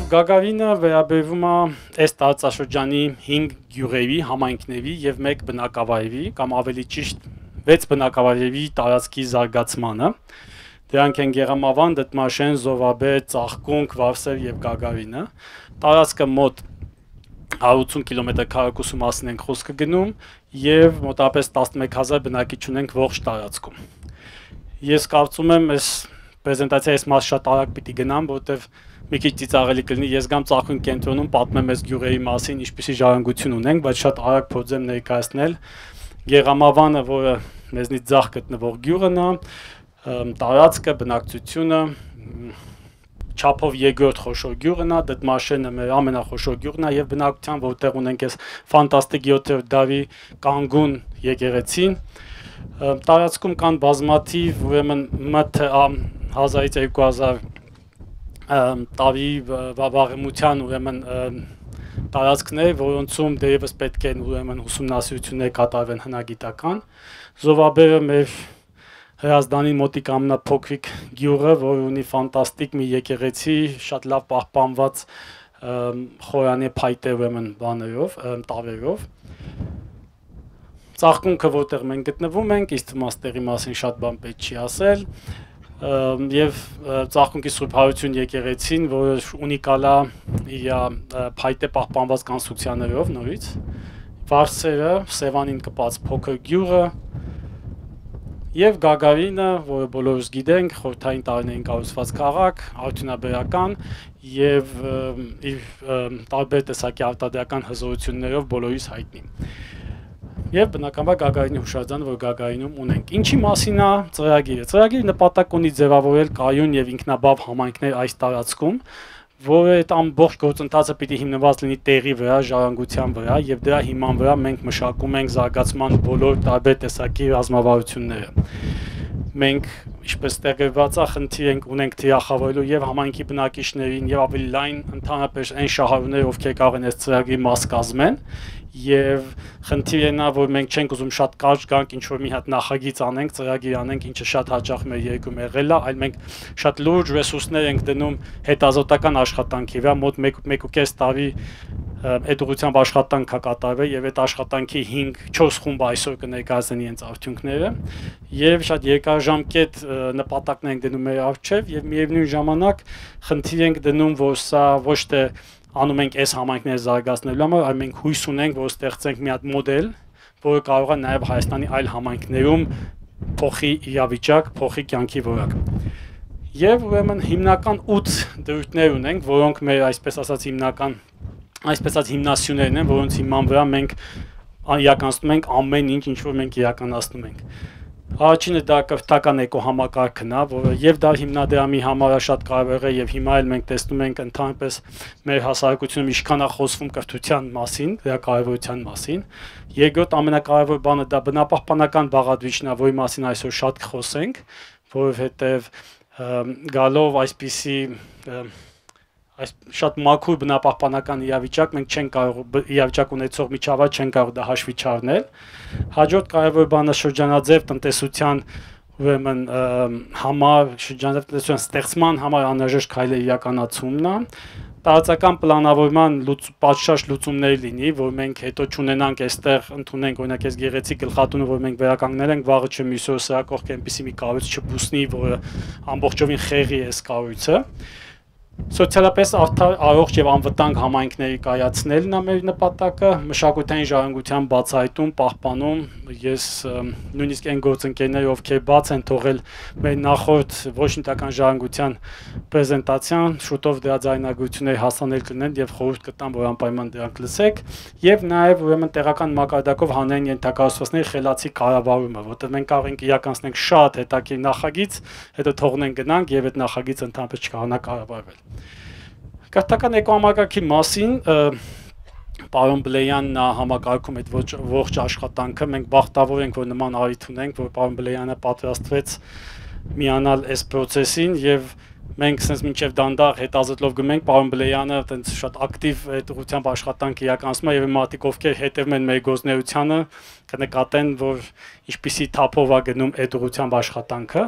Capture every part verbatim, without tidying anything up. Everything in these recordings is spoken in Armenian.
Գագավինը վերաբերվում է այս տարածաշրջանի հինգ գյուղերի, համայնքների եւ մեկ բնակավայրի, կամ ավելի ճիշտ վեց բնակավայրերի տարածքի զարգացմանը։ Դրանք են Գեղամավան, Դդմաշեն, Զովաբեր, Ծաղկունք, Վարսեր եւ Գագավինը։ Տարածքը մոտ հարյուր ութսուն կիլոմետր քառակուսու մասին ենք խոսքը գնում եւ մոտավորապես տասնմեկ հազար բնակիչ ունենք ողջ տարածքում։ Ես կարծում եմ, այս պրեզենտացիայի այս մասը շատ արագ պիտի գնամ, որովհետեւ մի քիչ ծիծաղելի կլինի, ես գամ Ծաղկունք կենտրոնում պատմեմ այս գյուղերի մասին, ինչպիսի ժառանգություն ունենք, բայց շատ արագ փորձեմ ներկայացնել Գեղամավանը, որը մեզնից ձախ գտնվող գյուղն է, տարածքը, բնակչությունը, չափով երկրորդ խոշոր գյուղն է, Դդմաշենը մեր ամենախոշոր գյուղն է եւ բնակության, որտեղ ունենք այս ֆանտաստիկ յոթերորդ դարի կանգուն եկեղեցին։ Տարածքում կան բազմաթիվ, ուրեմն մոտ հազարից երկու հազար տարի վաղեմության ուրեմն տարածքներ, որոնցում դերևս պետք է ուրեմն ուսումնասիրություններ կատարվեն հնագիտական։ Զովաբերը մեր Հրազդանի մոտիկ ամենափոքրիկ գյուղը, որ ունի ֆանտաստիկ մի եկեղեցի, շատ լավ պահպանված խորանի փայտե ուրեմն բաներով, տավերով։ Ծաղկունքը, որտեղ մենք գտնվում ենք, իսկ մաստերի մասին շատ բան պետք չի ասել, եւ Ծաղկունքի Սուրբ Հարություն եկեղեցին, որը ունիկալ է իր փայտե պահպանված կոնստրուկցիաներով նորից։ Վարսերը, Սևանին կպած փոքր գյուղը, եւ Գագավինը, որը բոլորս գիտենք, խորհրդային տարիներին կառուցված քաղաք, արդյունաբերական եւ իր տարբեր տեսակի արտադրական հզորություններով բոլորիս հայտնի։ Եվ բնականաբար Գագավինի հուշարձանը, որ Գագավինում ունենք։ Ինչի մասին է ծրագիրը։ Ծրագիրը նպատակ ունի ձևավորել կայուն եւ ինքնաբավ համայնքներ այս տարածքում, որը այդ ամբողջ գործընթացը պիտի հիմնված լինի տեղի վրա, ժառանգության վրա եւ դրա հիման վրա մենք մշակում ենք զարգացման բոլոր տարբեր տեսակի ռազմավարությունները։ Մենք, ինչպես տեղեկված է, խնդիր ենք ունենք թիրախավորելու եւ համայնքի բնակիչներին եւ ավելի լայն ընդհանրապես այն շահառուները, ովքեր կարող են այս ծրագրի մաս կազմեն, եւ խնդիրն է, որ մենք չենք ուզում շատ կարճ գանք ինչ որ մի հատ նախագիծ անենք, ծրագիր անենք, ինչը շատ հաճախ մեր երկրում եղել է, այլ մենք շատ լուրջ ռեսուրսներ ենք դնում հետազոտական աշխատանքի վրա, մոտ մեկ ու կես տարի այդ ուղղությամբ աշխատանք է կատարվել եւ այդ աշխատանքի հինգ չորս խումբ այսօր կներկայացնեն իրենց արդյունքները եւ շատ երկարաժամկետ նպատակներ ենք դնում մեր առջեւ եւ միևնույն ժամանակ խնդիր ենք դնում, որ սա ոչ թե անում ենք այս համայնքները զարգացնելու համար, այլ մենք հույս ունենք, որ ստեղծենք մի հատ մոդել, որը կարող է նաև Հայաստանի այլ համայնքներում փոխի իրավիճակ, փոխի կյանքի որակ։ Եվ ուրեմն հիմնական ութ դրույթներ ունենք, որոնք մեր այսպես ասած հիմնական, այսպես ասած հիմնասյուներն են, որոնց հիման վրա մենք իրականացնում ենք ամեն ինչ, ինչ որ մենք իրականացնում ենք։ Առաջինը դա կրթական էկոհամակարգն է, որը եւ դա հիմնադրամի համար է շատ կարևոր է եւ հիմա էլ մենք տեսնում ենք ընդհանրապես մեր հասարակությունում ինչքան է խոսվում կրթության մասին, դրա կարևորության մասին։ Երկրորդ ամենակարևոր բանը դա բնապահպանական բաղադրիչն է, որի մասին այսօր շատ կխոսենք, որովհետեւ գալով այսպիսի այս շատ մաքուր բնապահպանական իրավիճակ մենք չենք կարող իրավիճակ ունեցող միջավայր չենք կարող դա հաշվի չառնել։ Հաջորդ կարևոր բանը շրջանաձև տնտեսության ուրեմն համար, շրջանաձև տնտեսության ստեղծման համար անհրաժեշտ քայլերի իրականացումն է։ Տարածական պլանավորման պատշաճ լուծումներ լինի, որ մենք հետո չունենանք այստեղ ընդունենք օրինակ այս գեղեցիկ գլխատունը, որ մենք վերականգնել ենք, վաղը չէ մյուս օրը սրա կողք այնպեսի մի կառույց չբուսնի, որը ամբողջովին խեղի է այս կառույցը։ Սոցիալապես արդար, առողջ եւ անվտանգ համայնքների կայացնելն է մեր նպատակը, մշակութային ժառանգության բացահայտում, պահպանում, ես նույնիսկ այն գործընկերները, ովքեր բաց են թողել մեր նախորդ ոչ ինտական ժառանգության պրեզենտացիան, շուտով դրա ձայնագրությունները հասանել կլինեն եւ խորհուրդ կտամ, որ անպայման դրանք լսեք, եւ նաեւ ուրեմն տեղական մակարդակով հանրային ենթակառուցվածքների խելացի կառավարումը, որտեղ մենք կարող ենք իրականացնենք շատ հետաքրքիր նախագիծ, հետո թողնենք գնանք եւ այդ նախագիծը ընդհանրապես չկարողանա կառավարվել։ Կրթական էկոհամակարգի մասին պարոն Բլեյանն է համակարգում այդ ողջ աշխատանքը, մենք բախտավոր ենք, որ նման առիթ ունենք, որ պարոն Բլեյանը պատրաստվեց միանալ այս process-ին եւ մենք sense մինչեւ դանդաղ հետազոտելով գնենք, պարոն Բլեյանը այտենց շատ ակտիվ այդ ուղղությամբ աշխատանք իրականացնում է եւ մարդիկ ովքեր հետևում են մեր գործունեությանը կնկատեն, որ ինչպիսի թափով է գնում այդ ուղղությամբ աշխատանքը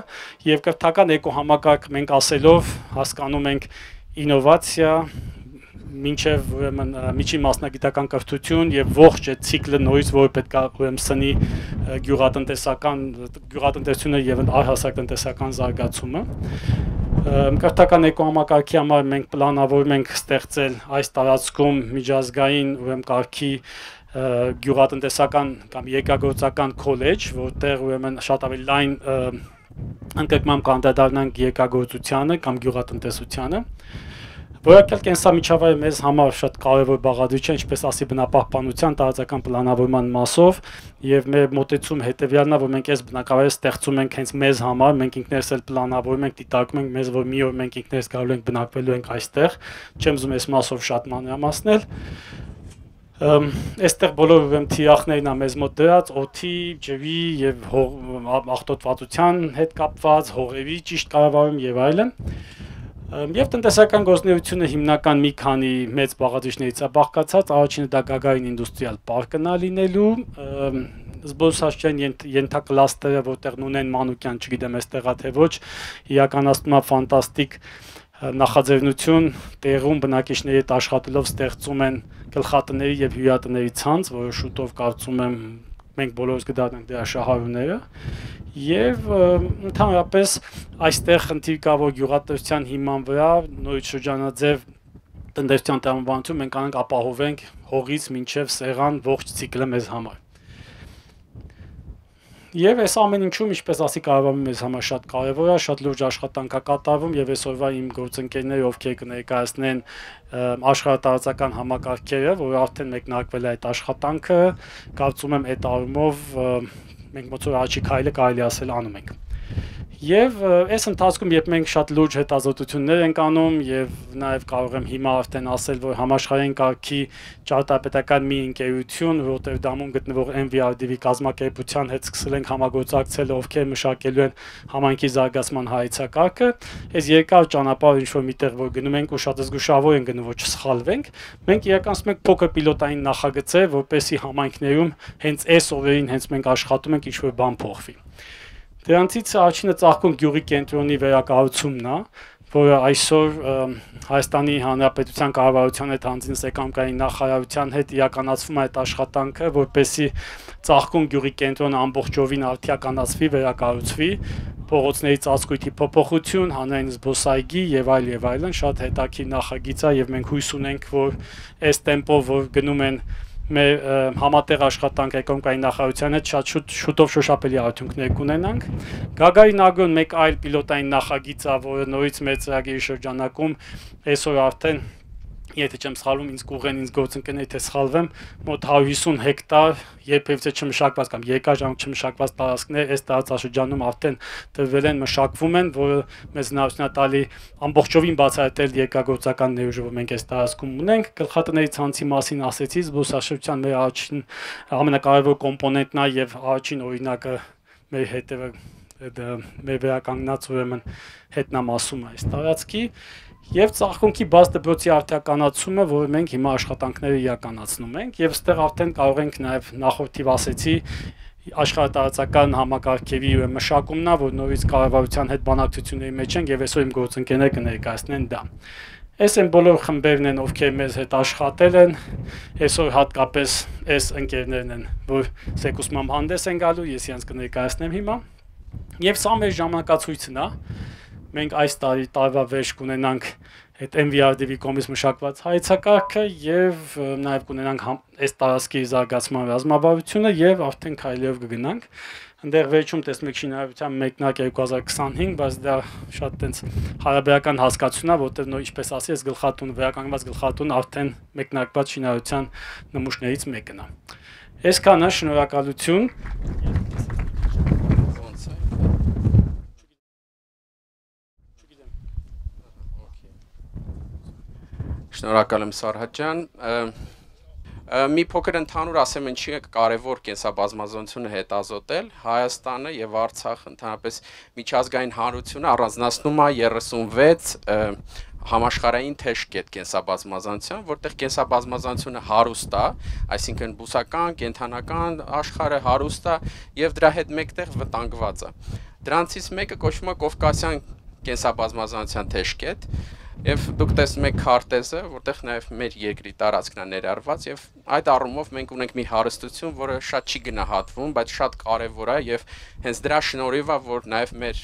եւ կրթական էկոհամակարգ մենք ասելով հասկանում ենք ինովացիա, մինչև ուրեմն միջին մասնագիտական կրթություն եւ ողջ այդ ցիկլը նորից որ պետք է ուրեմն սնի գյուղատնտեսական գյուղատնտեսությունը եւ առհասարակ տնտեսական զարգացումը։ Կրթական էկոհամակարգի համար մենք պլանավորում ենք ստեղծել այս տարածքում միջազգային ուրեմն կարգի գյուղատնտեսական կամ երկրագործական քոլեջ, որտեղ ուրեմն շատ ավելի լայն ընդգրկմամբ կանդրադառնանք երկրագործությանը կամ գյուղատնտեսությանը։ Որակյալ կենսամիջավայրը մեզ համար շատ կարևոր բաղադրիչ է, ինչպես ասի բնապահպանության տարածական պլանավորման մասով, եւ մեր մոտեցում հետեւյալն է, որ մենք այս բնակավայրը ստեղծում ենք հենց մեզ համար, մենք ինքներս էլ պլանավորում ենք, դիտարկում ենք մեզ, որ մի օր մենք ինքներս գալու ենք բնակվելու ենք այստեղ, չեմ ուզում այս մասով շատ մանրամասնել։ Այստեղ բոլոր ուրեմն թիրախներն է մեզ մոտ դրած, օդի, ջրի եւ աղտոտվածության հետ կապված, հողերի ճիշտ կառավարում եւ այլն։ Եվ տնտեսական գործունեությունը հիմնական մի քանի մեծ բաղադրիչներից է բաղկացած, առաջինը դա Գագարին ինդուստրիալ պարկն է լինելու, զբոսաշրջային ենթակլաստերը, որտեղ Նունեն Մանուկյան, չգիտեմ այստեղ է թե ոչ, իրականացնում է ֆանտաստիկ նախաձեռնություն, տեղում բնակիչների հետ աշխատելով ստեղծում են գլխատների եւ հյուրատների ցանց, որը շուտով կարծում եմ մենք բոլորս կդառնանք դրա շահառուները, եւ ընդհանրապես այստեղ խնդիր կա, որ գյուղատնտեսության հիման վրա նորից շրջանաձև տնտեսության տրամաբանություն մենք անենք ապահովենք հողից մինչև սեղան ողջ ցիկլը մեզ համար։ Եվ այս ամեն ինչում, ինչպես ասի, կառավարումը մեզ համար շատ կարևոր է, շատ լուրջ աշխատանք է կատարվում եւ այսօրվա իմ գործընկերները, ովքեր կներկայացնեն աշխարհատարածական համակարգերը, որ արդեն մեկնարկվել է այդ աշխատանքը, կարծում եմ այդ առումով մենք ոնց որ առաջի քայլը կարելի ասել անում ենք։ Եվ այս ընթացքում, երբ մենք շատ լուրջ հետազոտություններ ենք անում եւ նաեւ կարող եմ հիմա արդեն ասել, որ համաշխարհային կարգի ճարտարապետական մի ընկերություն Ռոտերդամում գտնվող N V R D V կազմակերպության հետ սկսել ենք համագործակցել, ովքեր մշակելու են համայնքի զարգացման հայեցակարգը։ Այս երկար ճանապարհը ինչ որ միտեղ որ գնում ենք ու շատ զգուշավոր են գնում, որ չսխալվենք, մենք իրականացնում ենք փոքր պիլոտային նախագծեր, որպեսզի համայնքներում հենց այս օրերին հենց մենք աշխատում ենք ինչ որ բան փոխվի։ Դրանցից առաջինը ծաղկուն գյուղի կենտրոնի վերակառուցումն է, որը այսօր Հայաստանի Հանրապետության կառավարության հետ հանձին էկономիկայի նախարարության հետ իրականացվում է այդ աշխատանքը, որպեսզի ծաղկուն գյուղի կենտրոնը ամբողջովին արդիականացվի, վերակառուցվի, փողոցների ծածկույթի փոփոխություն, հանրային զբոսայգի եւ այլ եւ այլն, շատ հետաքրքիր նախագիծ է եւ մենք հույս ունենք, որ այս տեմպով որ գնում են մեր համատեղ աշխատանք էկономիկայի նախարարության հետ շատ շուտ շուտով շոշափելի արդյունքներ կունենանք։ Գագարին ագրոն մեկ այլ պիլոտային նախագիծ է, որը նորից մեր ծրագրի շրջանակում այսօր արդեն, եթե չեմ սխալվում, ինձ կուղեն ինձ գործընկերներ թե սխալվեմ, մոտ հարյուր հիսուն հեկտար երբևէ չմշակված կամ երկարաժամկետ չմշակված տարածքներ այս տարածաշրջանում արդեն տրվել են, մշակվում են, որը մեզ հնարավորություն է տալի ամբողջովին բացահայտել երկրագործական ներուժը, որ մենք այս տարածքում ունենք։ Գլխատների ցանցի մասին ասեցի, զբոսաշրջության մեր առաջին ամենակարևոր կոմպոնենտն է եւ առաջին օրինակը մեր հետևը մեր վերականգնած ուրեմն հետնամասում է այս տարածքի եւ ծաղկունքի բաց դպրոցի արդիականացումը, որը մենք հիմա աշխատանքները իրականացնում ենք եւ այստեղ արդեն կարող ենք նաեւ նախորդիվ ասեցի աշխարհատարածական համակարգերի մշակումն է, որ նորից կառավարության հետ բանակցությունների մեջ ենք եւ այսօր իմ գործընկերները կներկայացնեն դա։ Այս են բոլոր խմբերն են, ովքեր մեզ հետ աշխատել են, այսօր հատկապես այս ընկերներն են, որ սեկուսմամ հանդես են գալու, ես իրենց կներկայացնեմ հիմա։ Եվ սա մեր ժամանակացույցն է։ Մենք այս տարի տարվա վերջ կունենանք այդ N V R D V կողմից մշակված հայեցակարգը եւ նաեւ կունենանք այս տարածքի զարգացման ռազմավարությունը եւ արդեն քայլերով կգնանք։ Այնտեղ վերջում տեսնում եք շինարարության մեկնակ երկու հազար քսանհինգ, բայց դա շատ տենց հարաբերական հասկացություն է, որտեղ նոր ինչպես ասի, այս գլխատուն վերականգնված գլխատուն արդեն մեկնարկված շինարարության նմուշներից մեկն է։ Այսքանը, շնորհակալություն։ Շնորհակալ եմ Սարհատ ջան։ Մի փոքր ընդհանուր ասեմ, ինչի է կարևոր կենսաբազմազանությունը հետազոտել։ Հայաստանը եւ Արցախը ընդհանրապես միջազգային հանրությունը առանձնացնում է երեսունվեց համաշխարհային թեժկետ կենսաբազմազանության, որտեղ կենսաբազմազանությունը հարուստ է, այսինքն բուսական, կենդանական աշխարհը հարուստ է եւ դրա հետ մեկտեղ վտանգված է։ Դրանցից մեկը կոչվում է Կովկասյան կենսաբազմազանության թեժկետ, Եվ դուք տեսնում եք քարտեզը, որտեղ նաև մեր երկրի տարածքն է ներառված եւ այդ առումով մենք ունենք մի հարստություն, որը շատ չի գնահատվում, բայց շատ կարեւոր է եւ հենց դրա շնորհիվ է, որ նաև մեր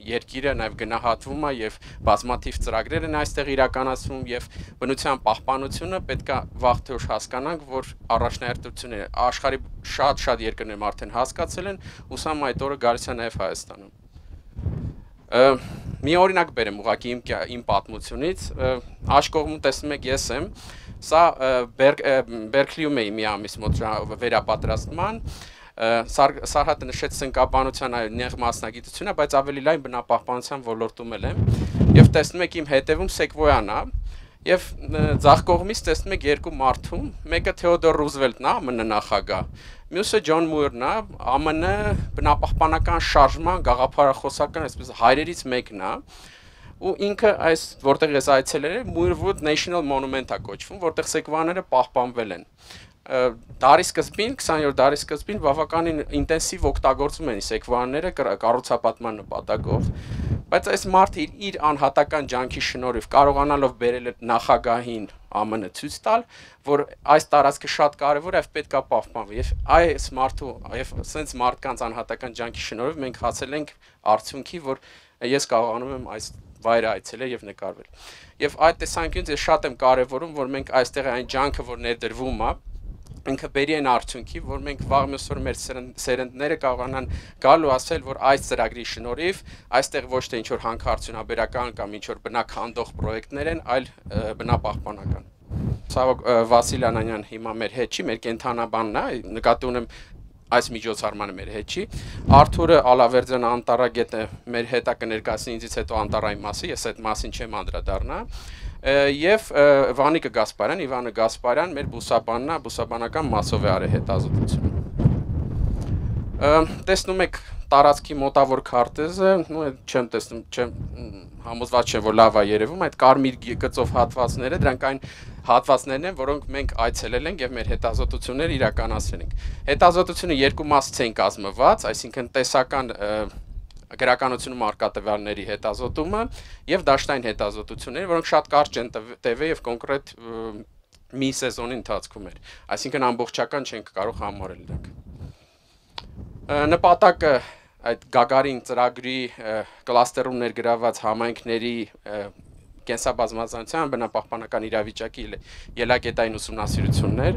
երկիրը նաև գնահատվում է եւ բազմաթիվ ծրագրեր են այստեղ իրականացվում եւ բնության պահպանությունը պետքա վաղ թե ուշ հասկանանք, որ առաջնահերթությունները աշխարհի շատ-շատ երկրներում արդեն հասկացել են, ուսամ այդ օրը գալիս է նաև Հայաստանում։ Մի օրինակ բերեմ ուղղակի իմ իմ պատմությունից, աջ կողմում տեսնում եք ես եմ, սա Բերքլիում էի մի ամիս մոտ վերապատրաստման, Սարհատը նշեց սնկաբանության նեղ մասնագիտությունը, բայց ավելի լայն բնապահպանության ոլորտում եմ եւ տեսնում եք իմ հետևում Սեկվոյան է եւ ձախ կողմից տեսնում եք երկու մարդու, մեկը Թեոդոր Ռուզվելտն է, ԱՄՆ նախագահ, մյուսը Ջոն Մուիրն է, ԱՄՆ բնապահպանական շարժման գաղափարախոսական այսպես հայրերից մեկն է ու ինքը այս որտեղ ես այցելել եմ Muirwood National Monument է կոչվում, որտեղ սեկվոյաները պահպանվել են։ Դարի սկզբին, քսաներորդ դարի սկզբին բավականին ինտենսիվ օգտագործում են սեկվոյանները կառուցապատման նպատակով, բայց այս մարդը իր անհատական ջանքի շնորհիվ կարողանալով բերել նախագահին ԱՄՆ ցույց տալ, որ այս տարածքը շատ կարևոր է եւ պետք է պահպանվի եւ այս մարդու եւ սենց մարդկանց անհատական ջանքի շնորհիվ մենք հասել ենք արդյունքի, որ ես կարողանում եմ այս վայրը այցելել եւ նկարվել։ Եվ այդ տեսանկյունից ես շատ եմ կարևորում, որ մենք այստեղ այն ջանքը, որ ներդրվում է, ինքը բերի են արդյունքի, որ մենք վաղ մյուս օր մեր սերնդները կարողանան գալ ու ասել, որ այս ծրագրի շնորհիվ այստեղ ոչ թե ինչ-որ հանքարդյունաբերական կամ ինչ-որ բնականդող պրոյեկտներ են, այլ բնապահպանական։ Ցավոք Վասիլ Անանյան հիմա մեր հետ չի, մեր կենթանաբանն է, նկատի ունեմ այս միջոցառմանը մեր հետ չի։ Արթուրը Ալավերդյանը Անտարագետը մեր հետը կներկայացնի ինձից հետո Անտարայի մասը, ես այդ մասին չեմ անդրադառնա։ Եվ Վանիկը Գասպարյան, Իվանը Գասպարյան, մեր բուսաբանն է, բուսաբանական մասով է արել հետազոտությունը։ Տեսնում եք տարածքի մոտավոր քարտեզը, նո չեմ տեսնում, չեմ համոզված չեմ, որ լավ է երևում, այդ կարմիր գծով հատվածները, դրանք այն հատվածներն են, որոնք մենք այցելել ենք եւ մեր հետազոտությունները իրականացրել ենք։ Հետազոտությունը երկու մասից են կազմված, այսինքն տեսական գրականությունում առկա տվյալների հետազոտումը եւ դաշտային հետազոտությունները, որոնք շատ կարճ են տևել եւ կոնկրետ մի սեզոնի ընթացքում էր, այսինքն ամբողջական չենք կարող համարել դրանք։ Նպատակը այդ Գագարին ծրագրի կլաստերում ներգրաված համայնքների կենսաբազմազանության բնապահպանական իրավիճակի ելակետային ուսումնասիրություններ։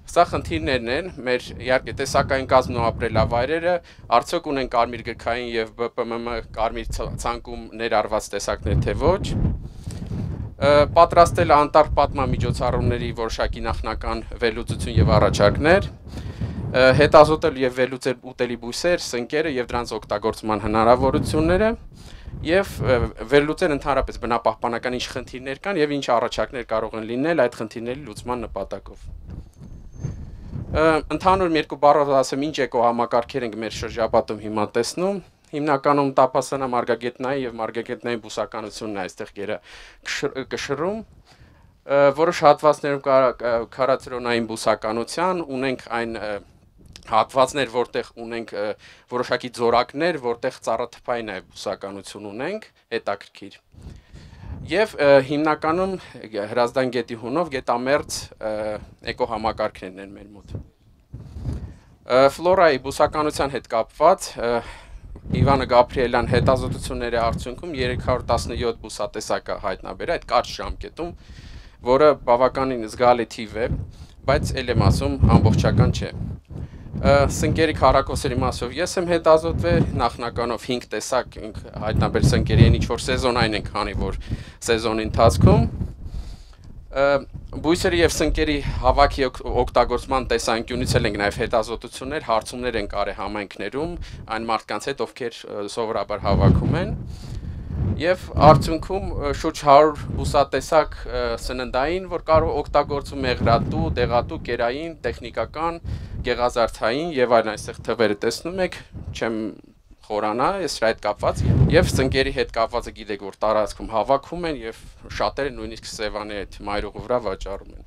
Սա խնդիրներն են, մեր իհարկե տեսակային կազմն ու ապրելավայրերը, արդյոք ունեն կարմիր գրքային եւ B P M M կարմիր ցանկում ներառված տեսակներ, թե ոչ։ Պատրաստել անտառ պատմամիջոցառումների որոշակի նախնական վերլուծություն եւ առաջարկներ, հետազոտել եւ վերլուծել ուտելի բույսեր, սնկերը եւ դրանց օգտագործման հնարավորությունները եւ վերլուծել ընդհանրապես բնապահպանական ինչ խնդիրներ կան եւ ինչ առաջարկներ կարող են լինել այդ խնդիրների լուծման նպատակով։ Ընդհանուր երկու բառով ասեմ, ինչ էկոհամակարգեր ենք մեր շրջապատում հիմա տեսնում, հիմնականում տափասանա մարգագետնային եւ մարգագետնային բուսականությունն է այստեղ գերը կշռում, որոշ հատվածներում քարացրոնային բուսականության ունենք այն հատվածներ, որտեղ ունենք որոշակի ձորակներ, որտեղ ծառաթփային այլ բուսականություն ունենք, հետաքրքիր։ Եվ հիմնականում Հրազդան գետի հունով գետամերձ էկոհամակարգներն են մեր մոտ։ Ֆլորայի բուսականության հետ կապված Իվանը Գաբրիելյան հետազոտությունների արդյունքում երեք հարյուր տասնյոթ բուսատեսակ հայտնաբերել այդ կարճ ժամկետում, որը բավականին զգալի թիվ է, բայց ել եմ ասում ամբողջական չէ։ Սնկերի քառակոսերի մասով ես եմ հետազոտվել, նախնականով հինգ տեսակ հայտնաբերել սնկերի են ինչ-որ սեզոնային ենք հանի, որ սեզոնի ընթացքում բույսերի եւ սնկերի հավաքի օգտագործման տեսանկյունից էլ ենք նաեւ հետազոտություններ, հարցումներ են կարել համայնքներում, այն մարդկանց հետ, ովքեր սովորաբար հավաքում են։ Եվ արդյունքում շուրջ հարյուր բուսատեսակ սննդային, որ կարող օգտագործում մեղրատու, դեղատու, կերային, տեխնիկական, գեղազարդային եւ այլն այստեղ թվերը տեսնում եք, չեմ խորանա, ես այդ կապված եւ սնկերի հետ կապվածը գիտեք, որ տարածքում հավաքում են եւ շատերը նույնիսկ Սևանի այդ մայրուղու վրա վաճառում են։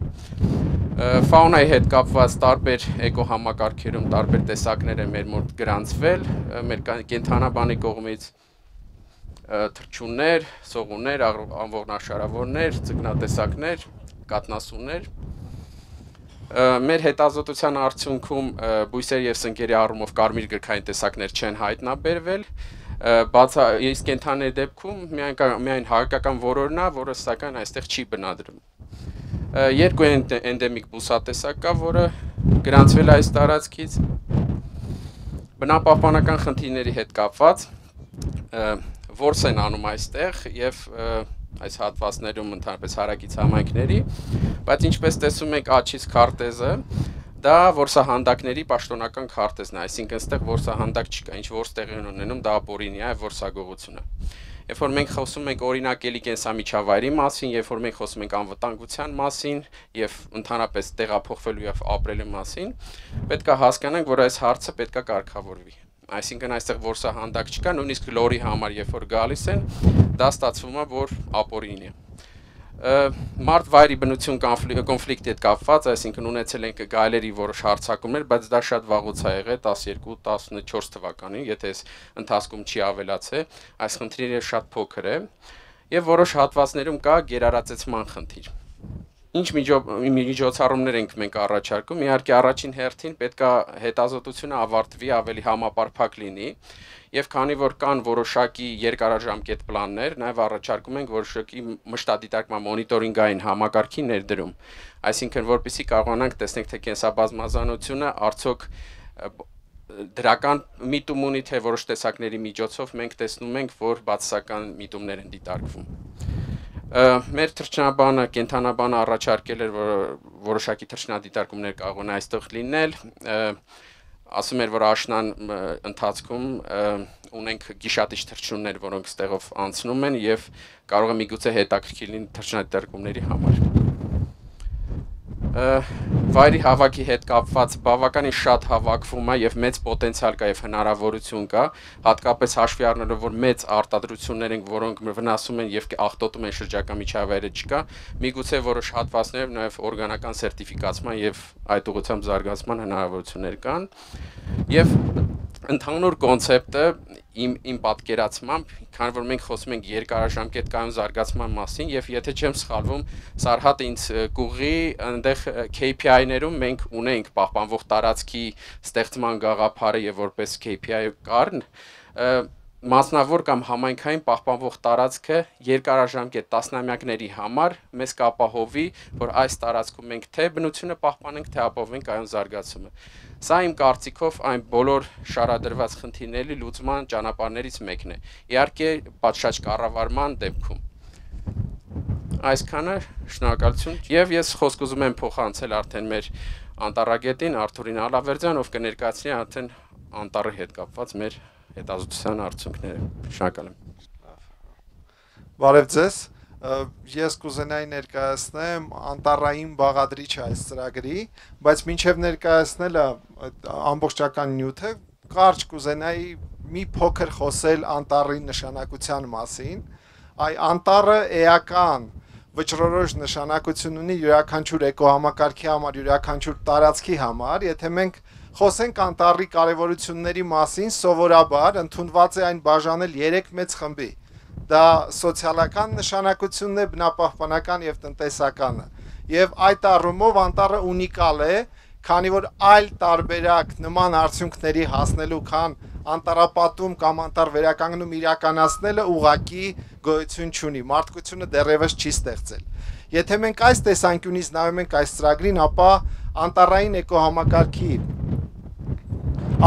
Ֆաունայի հետ կապված տարբեր էկոհամակարգերում տարբեր տեսակներ են մեր մոտ գրանցվել, մեր կենթանաբանի կողմից թռչուններ, սողուններ, անողնաշարավորներ, ձկնատեսակներ, կաթնասուններ։ Մեր հետազոտության արդյունքում բույսերի եւ սնկերի առումով կարմիր գրքային տեսակներ չեն հայտնաբերվել, բայց իսկ կենդանիների դեպքում միայն միայն հայկական որորն է, որը սակայն այստեղ չի բնադրվում։ Երկու էնդեմիկ բուսատեսակ կա, որը գրանցվել է այս տարածքից։ Բնապահպանական խնդիրների հետ կապված որս են անում այստեղ եւ այս հատվածներում ընդհանրապես հարակից համայնքների, բայց ինչպես տեսում եք աչից քարտեզը, դա որսահանդակների պաշտոնական քարտեզն է, այսինքն այստեղ որսահանդակ չկա, ինչ որս տեղի ունենում, դա ապօրինի է որսագողությունը։ Երբ որ մենք խոսում ենք օրինակելի կենսամիջավայրի մասին, երբ որ մենք խոսում ենք անվտանգության մասին եւ ընդհանրապես տեղափոխվելու եւ ապրելու մասին, պետք է հասկանանք, որ այս հարցը պետք է կարգավորվի։ Այսինքն այստեղ որսահանդակ չկա, նույնիսկ լորի համար երբ որ գալիս են, դա ստացվում է, որ ապօրինի է։ Մարդ-վայրի բնություն կոնֆլիկտի հետ կապված, այսինքն ունեցել ենք գայլերի որոշ հարձակումներ, բայց դա շատ վաղուց է եղել տասներկու տասնչորս թվականին, եթե այս ընթացքում չի ավելացել, այս խնդիրը շատ փոքր է եւ որոշ հատվածներում կա գերարածեցման խնդիր։ Ինչ միջոցառումներ ենք մենք առաջարկում, իհարկե առաջին հերթին պետք է հետազոտությունը ավարտվի, ավելի համապարփակ լինի, եւ քանի որ կան որոշակի երկարաժամկետ պլաններ, նաեւ առաջարկում ենք որոշակի մշտադիտարկման մոնիտորինգային համակարգի ներդրում, այսինքն որպեսզի կարողանանք տեսնենք թե կենսաբազմազանությունը արդյոք դրական միտում ունի, թե որոշ տեսակների միջոցով մենք տեսնում ենք, որ բացասական միտումներ են դիտարկվում։ Մեր թռչնաբանը, կենդանաբանը առաջարկել էր, որ որոշակի թռչնադիտարկումներ կարող են այստեղ լինել, ասում էր, որ աշնան ընթացքում ունենք գիշատիչ թռչուններ, որոնք ստեղով անցնում են եւ կարող է միգուցե հետաքրքիր լինի թռչնադիտարկումների համար։ Վայրի հավաքի հետ կապված բավականին շատ հավաքվում է եւ մեծ պոտենցիալ կա եւ հնարավորություն կա, հատկապես հաշվի առնելով, որ մեծ արտադրություններ են, որոնք վնասում են եւ աղտոտում են շրջակա միջավայրը չկա, միգուցե որոշ հատվածներով նաեւ օրգանական սերտիֆիկացման եւ այդ ուղղությամբ զարգացման հնարավորություններ կան եւ ընդհանուր կոնցեպտը իմ իմ պատկերացմամբ, քանի որ մենք խոսում ենք երկարաժամկետ կայուն զարգացման մասին եւ եթե չեմ սխալվում, Սարհատը ինձ կուղի այնտեղ K P I-ներում մենք ունենք պահպանվող տարածքի ստեղծման գաղափարը եւ որպես K P I կառն, մասնավոր կամ համայնքային պահպանվող տարածքը երկարաժամկետ տասնամյակների համար մեզ կապահովի, որ այս տարածքում մենք թե բնությունը պահպանենք, թե ապահովենք կայուն զարգացումը։ Սա իմ կարծիքով այն բոլոր շարադրված խնդիրների լուծման ճանապարհներից մեկն է։ Իհարկե, պատշաճ կառավարման դեպքում։ Այսքանը, շնորհակալություն։ Եվ ես խոսք ուզում եմ փոխանցել արդեն մեր անտառագետին Արթուրին Ալավերդյան, ով կներկայացնի արդեն անտառի հետ կապված մեր հետազոտության արդյունքները։ Շնորհակալ եմ։ Բարև ձեզ։ Ես կուզենայի ներկայացնեմ անտառային բաղադրիչ այս ծրագրի, բայց մինչև ներկայացնելը ամբողջական նյութը, կարճ կուզենայի մի փոքր խոսել անտառի նշանակության մասին։ Այ անտառը էական վճռորոշ նշանակություն ունի յուրաքանչյուր էկոհամակարգի համար, յուրաքանչյուր տարածքի համար, եթե մենք խոսենք անտառի կարևորությունների մասին, սովորաբար ընդունված է այն բաժանել երեք մեծ խմբի։ Դա սոցիալական նշանակությունն է, բնապահպանական եւ տնտեսականը։ Եվ այդ առումով անտառը ունիկալ է, քանի որ այլ տարբերակ նման արդյունքների հասնելու, քան անտառապատում կամ անտառ վերականգնում իրականացնելը ուղղակի գոյություն չունի, մարդկությունը դեռևս չի ստեղծել։ Եթե մենք այս տեսանկյունից նայում ենք այս ծրագրին, ապա անտառային էկոհամակարգի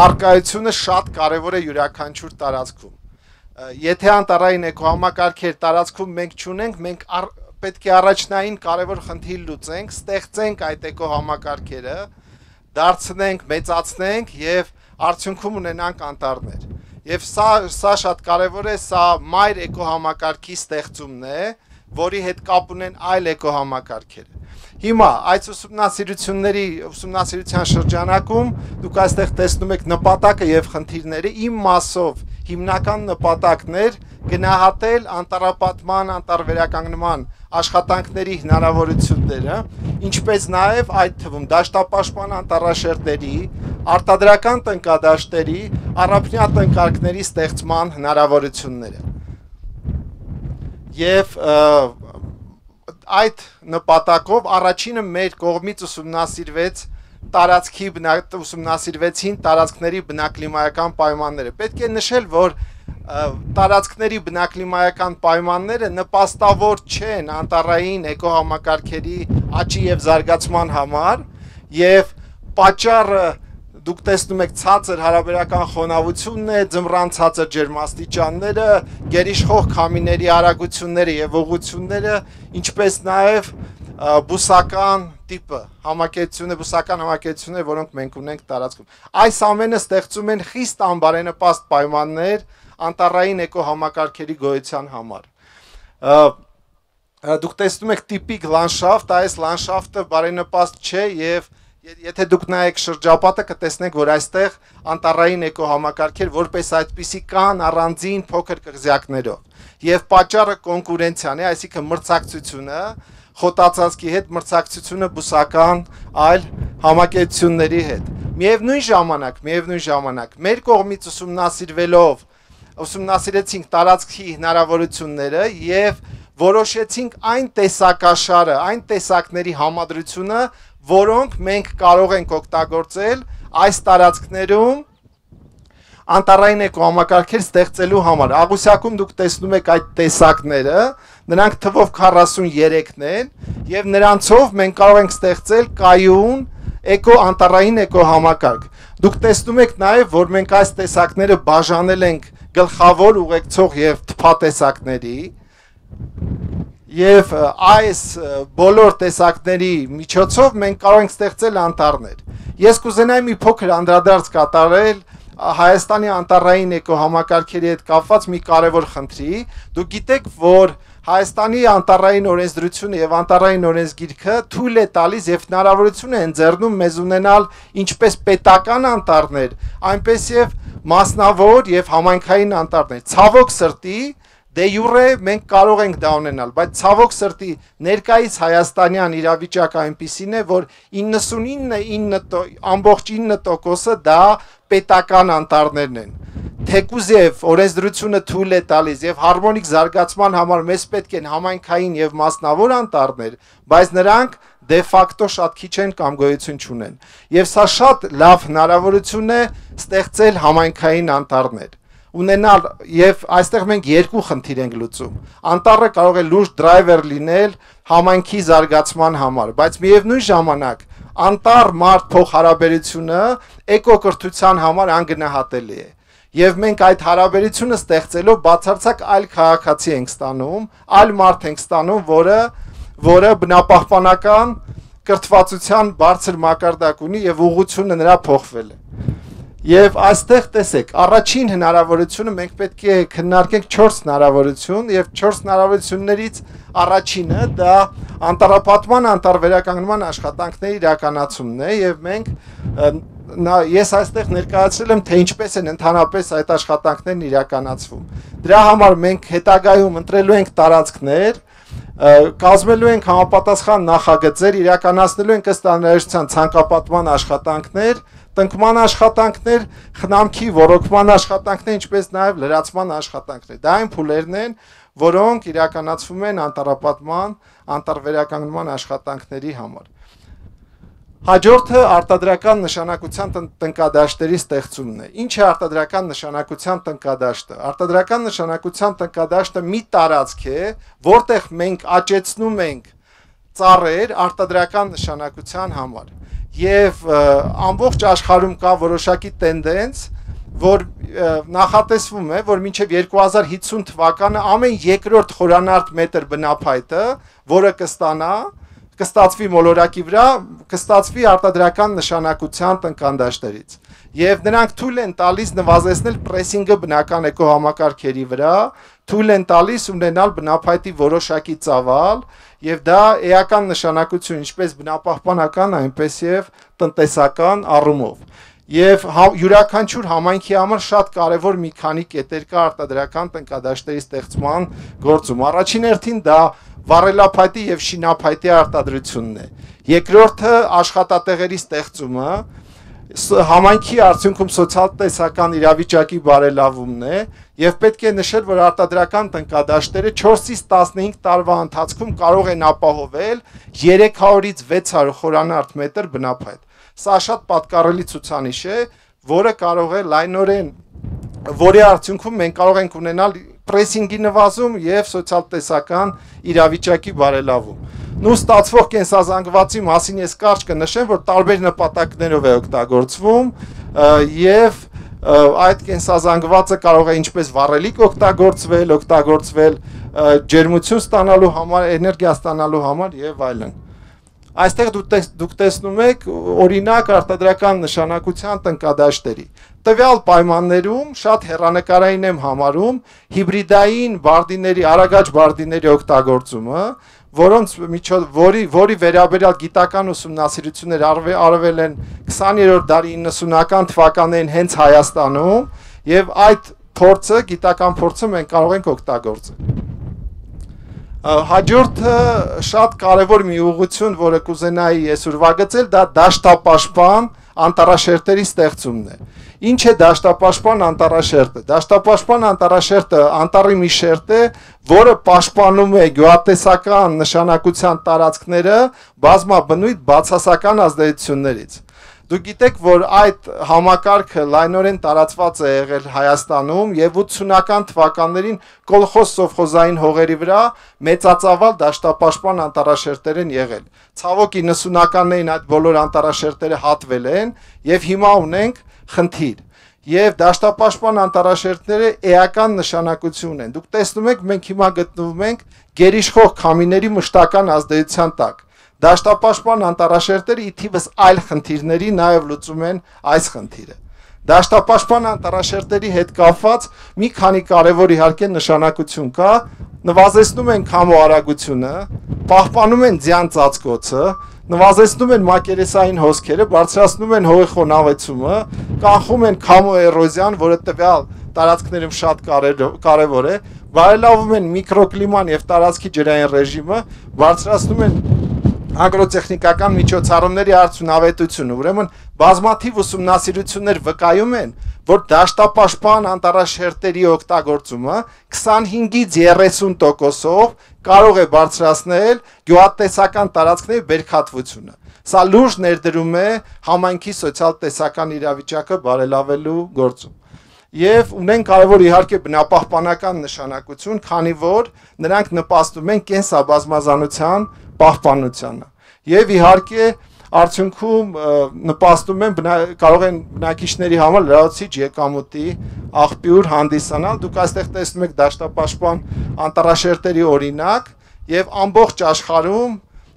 առկայությունը շատ կարևոր է յուրաքանչյուր տարածքում։ Եթե անտառային էկոհամակարգեր տարածքում մենք չունենք, մենք պետք է առաջնային կարևոր խնդիր լուծենք, ստեղծենք այդ էկոհամակարգերը, դարձնենք, մեծացնենք եւ արդյունքում ունենանք անտառներ։ Եվ սա սա շատ կարևոր է, սա մայր էկոհամակարգի ստեղծումն է, որի հետ կապ ունեն այլ էկոհամակարգերը։ Հիմա այս ուսումնասիրությունների ուսումնասիրության շրջանակում դուք այստեղ տեսնում եք նպատակը եւ խնդիրները, իմ մասով հիմնական նպատակն էր գնահատել անտառապատման, անտառվերականգնման աշխատանքների հնարավորությունները, ինչպես նաև այդ թվում դաշտապաշտպան անտառաշերտերի, արտադրական տնկադաշտերի, առափնյա տնկարկների ստեղծման հնարավորությունները։ եւ այդ նպատակով առաջինը մեր կողմից ուսումնասիրվեց տարածքի ուսումնասիրվեցին տարածքների բնակլիմայական պայմանները։ Պետք է նշել, որ տարածքների բնակլիմայական պայմանները նպաստավոր չեն անտառային էկոհամակարգերի աճի եւ զարգացման համար եւ պատճառը դուք տեսնում եք ցածր հարաբերական խոնավությունն է, ձմռան ցածր ջերմաստիճանները, գերիշխող քամիների արագությունները եւ ուղղությունները, ինչպես նաեւ բուսական տիպը, համակեցությունը, բուսական համակեցությունները, որոնք մենք ունենք տարածքում։ Այս ամենը ստեղծում են խիստ անբարենպաստ պայմաններ անտառային էկոհամակարգերի գոյության համար։ Դուք տեսնում եք տիպիկ լանդշաֆտ, այս լանդշաֆտը բարենպաստ չէ եւ եթե դուք նայեք շրջապատը կտեսնեք, որ այստեղ անտառային էկոհամակարգեր որպես այդպիսի կան առանձին փոքր կղզյակներով եւ պատճառը կոնկուրենցիան է, այսինքն մրցակցությունը խոտածածկի հետ, մրցակցությունը բուսական այլ համակեցությունների հետ։ Միևնույն ժամանակ, միևնույն ժամանակ մեր կողմից ուսումնասիրվելով ուսումնասիրեցինք տարածքի հնարավորությունները եւ որոշեցինք այն տեսակաշարը, այն տեսակների համադրությունը, որոնք մենք կարող ենք օգտագործել այս տարածքներում անտառային էկոհամակարգեր ստեղծելու համար։ Աղյուսակում դուք տեսնում եք այդ տեսակները, նրանք թվով քառասուններեքն են եւ նրանցով մենք կարող ենք ստեղծել կայուն էկո անտառային էկոհամակարգ։ Դուք տեսնում եք նաեւ, որ մենք այս տեսակները բաժանել ենք գլխավոր, ուղեկցող եւ թփատեսակների Եվ այս բոլոր տեսակների միջոցով մենք կարող ենք ստեղծել անտառներ։ Ես կուզենայի մի փոքր անդրադարձ կատարել Հայաստանի անտառային էկոհամակարգերի հետ կապված մի կարևոր խնդրի։ Դուք գիտեք, որ Հայաստանի անտառային օրենսդրությունը եւ անտառային օրենսգիրքը թույլ է տալիս եւ հնարավորություն է ընձեռնում մեզ ունենալ ինչպես պետական անտառներ, այնպես եւ մասնավոր եւ համայնքային անտառներ։ Ցավոք սրտի Դե յուրե մենք կարող ենք դա ունենալ, բայց ցավոք սրտի ներկայիս հայաստանյան իրավիճակը այնպիսին է, որ իննսունինը ամբողջ ինը տոկոսը դա պետական անտառներն են։ Թեկուզ եւ օրենսդրությունը թույլ է տալիս եւ հարմոնիկ զարգացման համար մեզ պետք են համայնքային եւ մասնավոր անտառներ, բայց նրանք դե ֆակտո շատ քիչ են կամ գոյություն չունեն։ Եվ սա շատ լավ հնարավորություն է ստեղծել համայնքային անտառներ ունենալ եւ այստեղ մենք երկու խնդիր ենք լուծում։ Անտառը կարող է լուրջ դրայվեր լինել համայնքի զարգացման համար, բայց միևնույն ժամանակ անտառ մարդ փոխհարաբերությունը էկոկրթության համար անգնահատելի է։ Եվ մենք այդ հարաբերությունը ստեղծելով բացարձակ այլ քաղաքացի ենք ստանում, այլ մարդ ենք ստանում, որը որը բնապահպանական կրթվածության բարձր մակարդակ ունի եւ ուղղությունը նրա փոխվել է։ Եվ այստեղ տեսեք, առաջին հնարավորությունը մենք պետք է քննարկենք չորս հնարավորություն եւ չորս հնարավորություններից առաջինը դա անտառապատման, անտառվերականգնման աշխատանքների իրականացումն է եւ մենք ես այստեղ ներկայացրել եմ թե ինչպես են ընդհանրապես այդ աշխատանքներն իրականացվում։ Դրա համար մենք հետագայում ընտրելու ենք տարածքներ, կազմելու ենք համապատասխան նախագծեր, իրականացնելու ենք ըստ անհրաժեշտության ցանկապատման աշխատանքներ, տնկման աշխատանքներ, խնամքի ոռոգման աշխատանքներ, ինչպես նաև լրացման աշխատանքներ։ Դա այն փուլերն են, որոնք իրականացվում են անտառապատման, անտառվերականգնման աշխատանքների համար։ Հաջորդը արտադրական նշանակության տնկադաշտերի ստեղծումն է։ Ինչ է արտադրական նշանակության տնկադաշտը։ Արտադրական նշանակության տնկադաշտը մի տարածք է, որտեղ մենք աճեցնում ենք ծառեր արտադրական նշանակության համար։ Եվ ամբողջ աշխարհում կա որոշակի տենդենց, որ նախատեսվում է, որ մինչև երկու հազար հիսուն թվականը ամեն երկրորդ խորանարդ մետր բնափայտը, որը կստանա, կստացվի մոլորակի վրա, կստացվի արտադրական նշանակության տնկադաշտերից։ Եվ նրանք թույլ են տալիս նվազեցնել պրեսինգը բնական էկոհամակարգերի վրա, թույլ են տալիս ունենալ բնափայտի որոշակի ծավալ, եւ դա էական նշանակություն ինչպես բնապահպանական, այնպես եւ տնտեսական առումով։ Եվ յուրաքանչյուր համայնքի համար շատ կարևոր մի քանի կետեր կա արտադրական տնկադաշտերի ստեղծման գործում։ Առաջին հերթին դա վառելափայտի եւ շինափայտի արտադրությունն է։ Երկրորդը աշխատատեղերի ստեղծումը, համայնքի արդյունքում սոցիալ-տնտեսական իրավիճակի բարելավումն է եւ պետք է նշել, որ արտադրական տնկադաշտերը չորսից տասնհինգ տարվա ընթացքում կարող են ապահովել երեք հարյուրից վեց հարյուր խորանարդ մետր բնափայտ։ Սա շատ պատկառելի ցուցանիշ է, որը կարող է լայնորեն, որի արդյունքում մենք կարող ենք ունենալ պրեսինգի նվազում եւ սոցիալ-տնտեսական իրավիճակի բարելավում։ Նու ստացվող կենսազանգվածի մասին ես կարճ կնշեմ, որ տարբեր նպատակներով է օգտագործվում եւ այդ կենսազանգվածը կարող է ինչպես վառելիք օգտագործվել, օգտագործվել ջերմություն ստանալու համար, էներգիա ստանալու համար եւ այլն։ Այստեղ դուք տեսնում եք օրինակ արտադրական նշանակության տնկադաշտերի։ Տվյալ պայմաններում շատ հեռանկարային եմ համարում հիբրիդային բարդիների, արագաճ բարդիների օգտագործումը, որոնց միջոց որի որի վերաբերյալ գիտական ուսումնասիրություններ արվել են քսաներորդ դարի իննսունական թվականներին հենց Հայաստանում եւ այդ փորձը, գիտական փորձը մենք կարող ենք օգտագործել։ Հաջորդը շատ կարևոր մի ուղղություն, որը կուզենայի ես ուրվագծել, դա դաշտապաշտպան անտառաշերտերի ստեղծումն է։ Ինչ է դաշտապաշտպան անտառաշերտը։ Դաշտապաշտպան անտառաշերտը անտառի մի շերտ է, որը պաշտպանում է գյուղատնտեսական նշանակության տարածքները բազմաբնույթ բացասական ազդեցություններից։ Դուք գիտեք, որ այդ համակարգը լայնորեն տարածված է եղել Հայաստանում եւ ութսունական թվականներին կոլխոզ սովխոզային հողերի վրա մեծածավալ դաշտապաշտպան անտառաշերտեր են եղել։ Ցավոք իննսունականներին այդ բոլոր անտառաշերտերը հատվել են եւ հիմա ունենք խնդիր։ Եվ դաշտապաշտպան անտառաշերտները էական նշանակություն են։ Դուք տեսնում եք, մենք հիմա գտնվում ենք գերիշխող քամիների մշտական ազդեցության տակ։ Դաշտապաշտպան անտառաշերտերը ի թիվս այլ խնդիրների նաև լուծում են այս խնդիրը։ Դաշտապաշտպան անտառաշերտերի հետ կապված մի քանի կարևոր իհարկե նշանակություն կա, նվազեցնում են քամու արագությունը, պահպանում են ձյան ծածկոցը, նվազեցնում են մակերեսային հոսքերը, բարձրացնում են հողի խոնավեցումը, կանխում են քամու էրոզիան, որը տվյալ տարածքներում շատ կարևոր է, բարելավում են միկրոկլիման եւ տարածքի ջրային ռեժիմը, բարձրացնում են ագրոտեխնիկական միջոցառումների արդյունավետությունը։ Ուրեմն բազմաթիվ ուսումնասիրություններ վկայում են, որ դաշտապաշտպան անտառաշերտերի օգտագործումը քսանհինգից երեսուն տոկոսով կարող է բարձրացնել գյուղատնտեսական տարածքների բերքատվությունը։ Սա լուրջ ներդրում է համայնքի սոցիալ-տնտեսական իրավիճակը բարելավելու գործում։ Եվ ունեն կարևոր իհարկե բնապահպանական նշանակություն, քանի որ նրանք նպաստում են կենսաբազմազանության պահպանությանը։ Եվ իհարկե արդյունքում նպաստում են կարող են բնակիչների համար լրացուցիչ եկամուտի աղբյուր հանդիսանալ։ Դուք այստեղ տեսնում եք դաշտապաշտպան անտառաշերտերի օրինակ եւ ամբողջ աշխարհում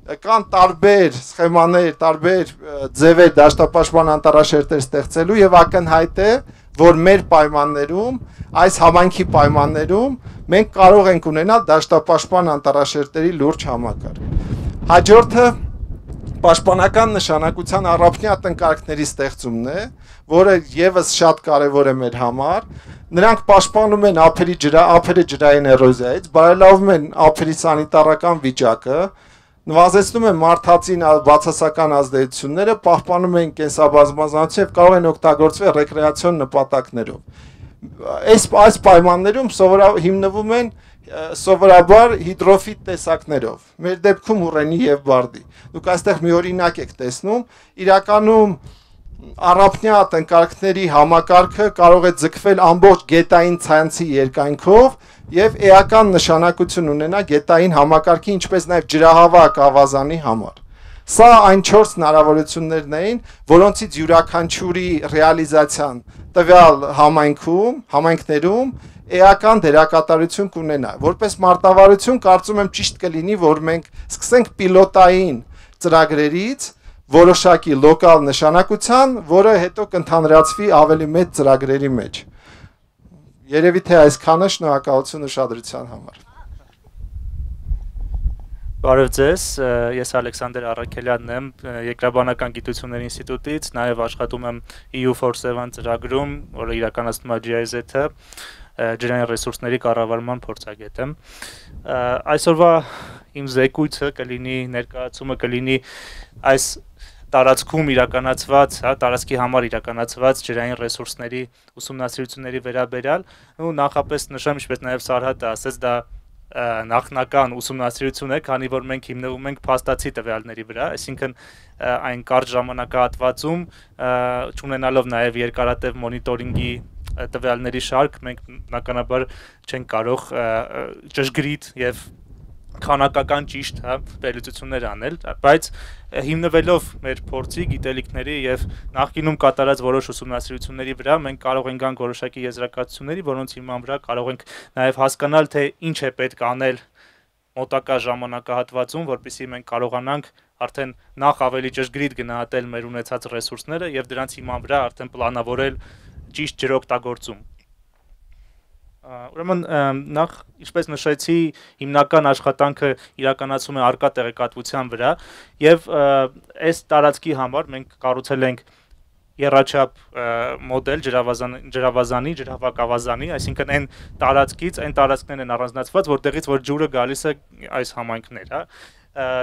կան տարբեր սխեմաներ, տարբեր ձևեր դաշտապաշտպան անտառաշերտեր ստեղծելու եւ ակնհայտ է, որ մեր պայմաններում, այս համայնքի պայմաններում մենք կարող ենք ունենալ դաշտապաշտպան անտառաշերտերի լուրջ համակարգ։ Հաջորդը պաշտպանական նշանակության առափնյա տնկարկների ստեղծումն է, որը եւս շատ կարեւոր է մեր համար։ Նրանք պաշտպանում են ափերի ջրա, ափերը ջրային էրոզիայից, բարելավում են ափերի սանիտարական վիճակը, նվազեցնում են մարդածին բացասական ազդեցությունները, պահպանում են կենսաբազմազանություն եւ կարող են օգտագործվել ռեկրեացիոն նպատակներով։ Այս այս պայմաններում հիմնվում են սովորաբար հիդրոֆիտ տեսակներով։ Մեր դեպքում ուռենի եւ բարդի։ Դուք այստեղ մի օրինակ եք տեսնում, իրականում առափնյա տնկարկների համակարգը կարող է ձգվել ամբողջ գետային ցանցի երկայնքով եւ էական նշանակություն ունենա գետային համակարգի, ինչպես նաեւ ջրահավաք ավազանի համար։ Սա այն չորս հնարավորություններն էին, որոնցից յուրաքանչյուրի ռեալիզացիան տվյալ համայնքում, համայնքներում էական դերակատարություն կունենա։ Որպես մարտավարություն կարծում եմ ճիշտ կլինի, որ մենք սկսենք պիլոտային ծրագրերից որոշակի լոկալ նշանակության, որը հետո կընդհանրացվի ավելի մեծ ծրագրերի մեջ։ Երևի թե այսքանը, շնորհակալություն ուշադրության համար։ Բարև ձեզ, ես Ալեքսանդր Առաքելյանն եմ, Երկրաբանական գիտությունների ինստիտուտից, նաև աշխատում եմ E U for Seven ծրագրում, որը իրականացնում է G I Z-ը, ջրային ռեսուրսների կառավարման փորձագետ եմ։ Այսօրվա իմ զեկույցը կլինի, ներկայացումը կլինի այս տարածքում իրականացված, հա, տարածքի համար իրականացված ջրային ռեսուրսների ուսումնասիրությունների վերաբերյալ, ու նախապես նշեմ, ինչպես նաև Սարհատը ասաց, դա նախնական ուսումնասիրություն է, քանի որ մենք հիմնվում ենք փաստացի տվյալների վրա, այսինքն այն կարճ ժամանակահատվածում, չունենալով նաև երկարատև մոնիտորինգի տվյալների շարք, մենք բնականաբար չենք կարող ճշգրիտ եւ քանակական ճիշտ, հա, վերլուծություններ անել, բայց հիմնվելով մեր փորձի, գիտելիքների եւ նախկինում կատարած որոշ ուսումնասիրությունների վրա մենք կարող ենք գանք որոշակի եզրակացությունների, որոնց հիման վրա կարող ենք նաեւ հասկանալ, թե ինչ է պետք անել մոտակա ժամանակահատվածում, որպեսզի մենք կարողանանք արդեն նախ ավելի ճշգրիտ գնահատել մեր ունեցած ռեսուրսները եւ դրանց հիման վրա արդեն պլանավորել ճիշտ ջրօգտագործում։ Ուրեմն նախ, ինչպես նշեցի, հիմնական աշխատանքը իրականացում է արկա տեղեկատվության վրա եւ այս տարածքի համար մենք կառուցել ենք եռաչափ մոդել ջրավազանի, ջրհավաքավազանի, այսինքն այն տարածքից, այն տարածքներն են առանձնացված, որտեղից որ ջուրը գալիս է այս համայնքներ, հա։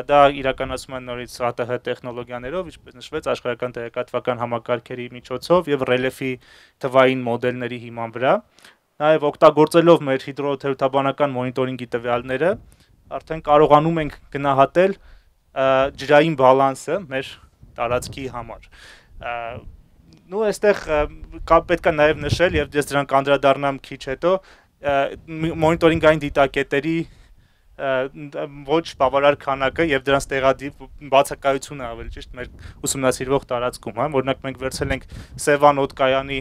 Դա իրականացում են նորից ա տե հ տեխնոլոգիաներով, ինչպես նշվեց, աշխարհական տեղեկատվական համակարգերի միջոցով եւ ռելիեֆի թվային մոդելների հիման վրա։ Նաև օգտագործելով մեր հիդրոթերապևտաբանական մոնիտորինգի տվյալները, արդեն կարողանում ենք գնահատել ջրային բալանսը մեր տարածքի համար։ Նու այստեղ պետք է նաև նշել, եւ ես դրան կանդրադառնամ քիչ հետո, մոնիտորինգային դիտակետերի ոչ բավարար քանակը եւ դրանց տեղադիպ բացակայությունը ավելի ճիշտ մեր ուսումնասիրվող տարածքում, հա, օրինակ մենք վերցրել ենք Սևան օդկայանի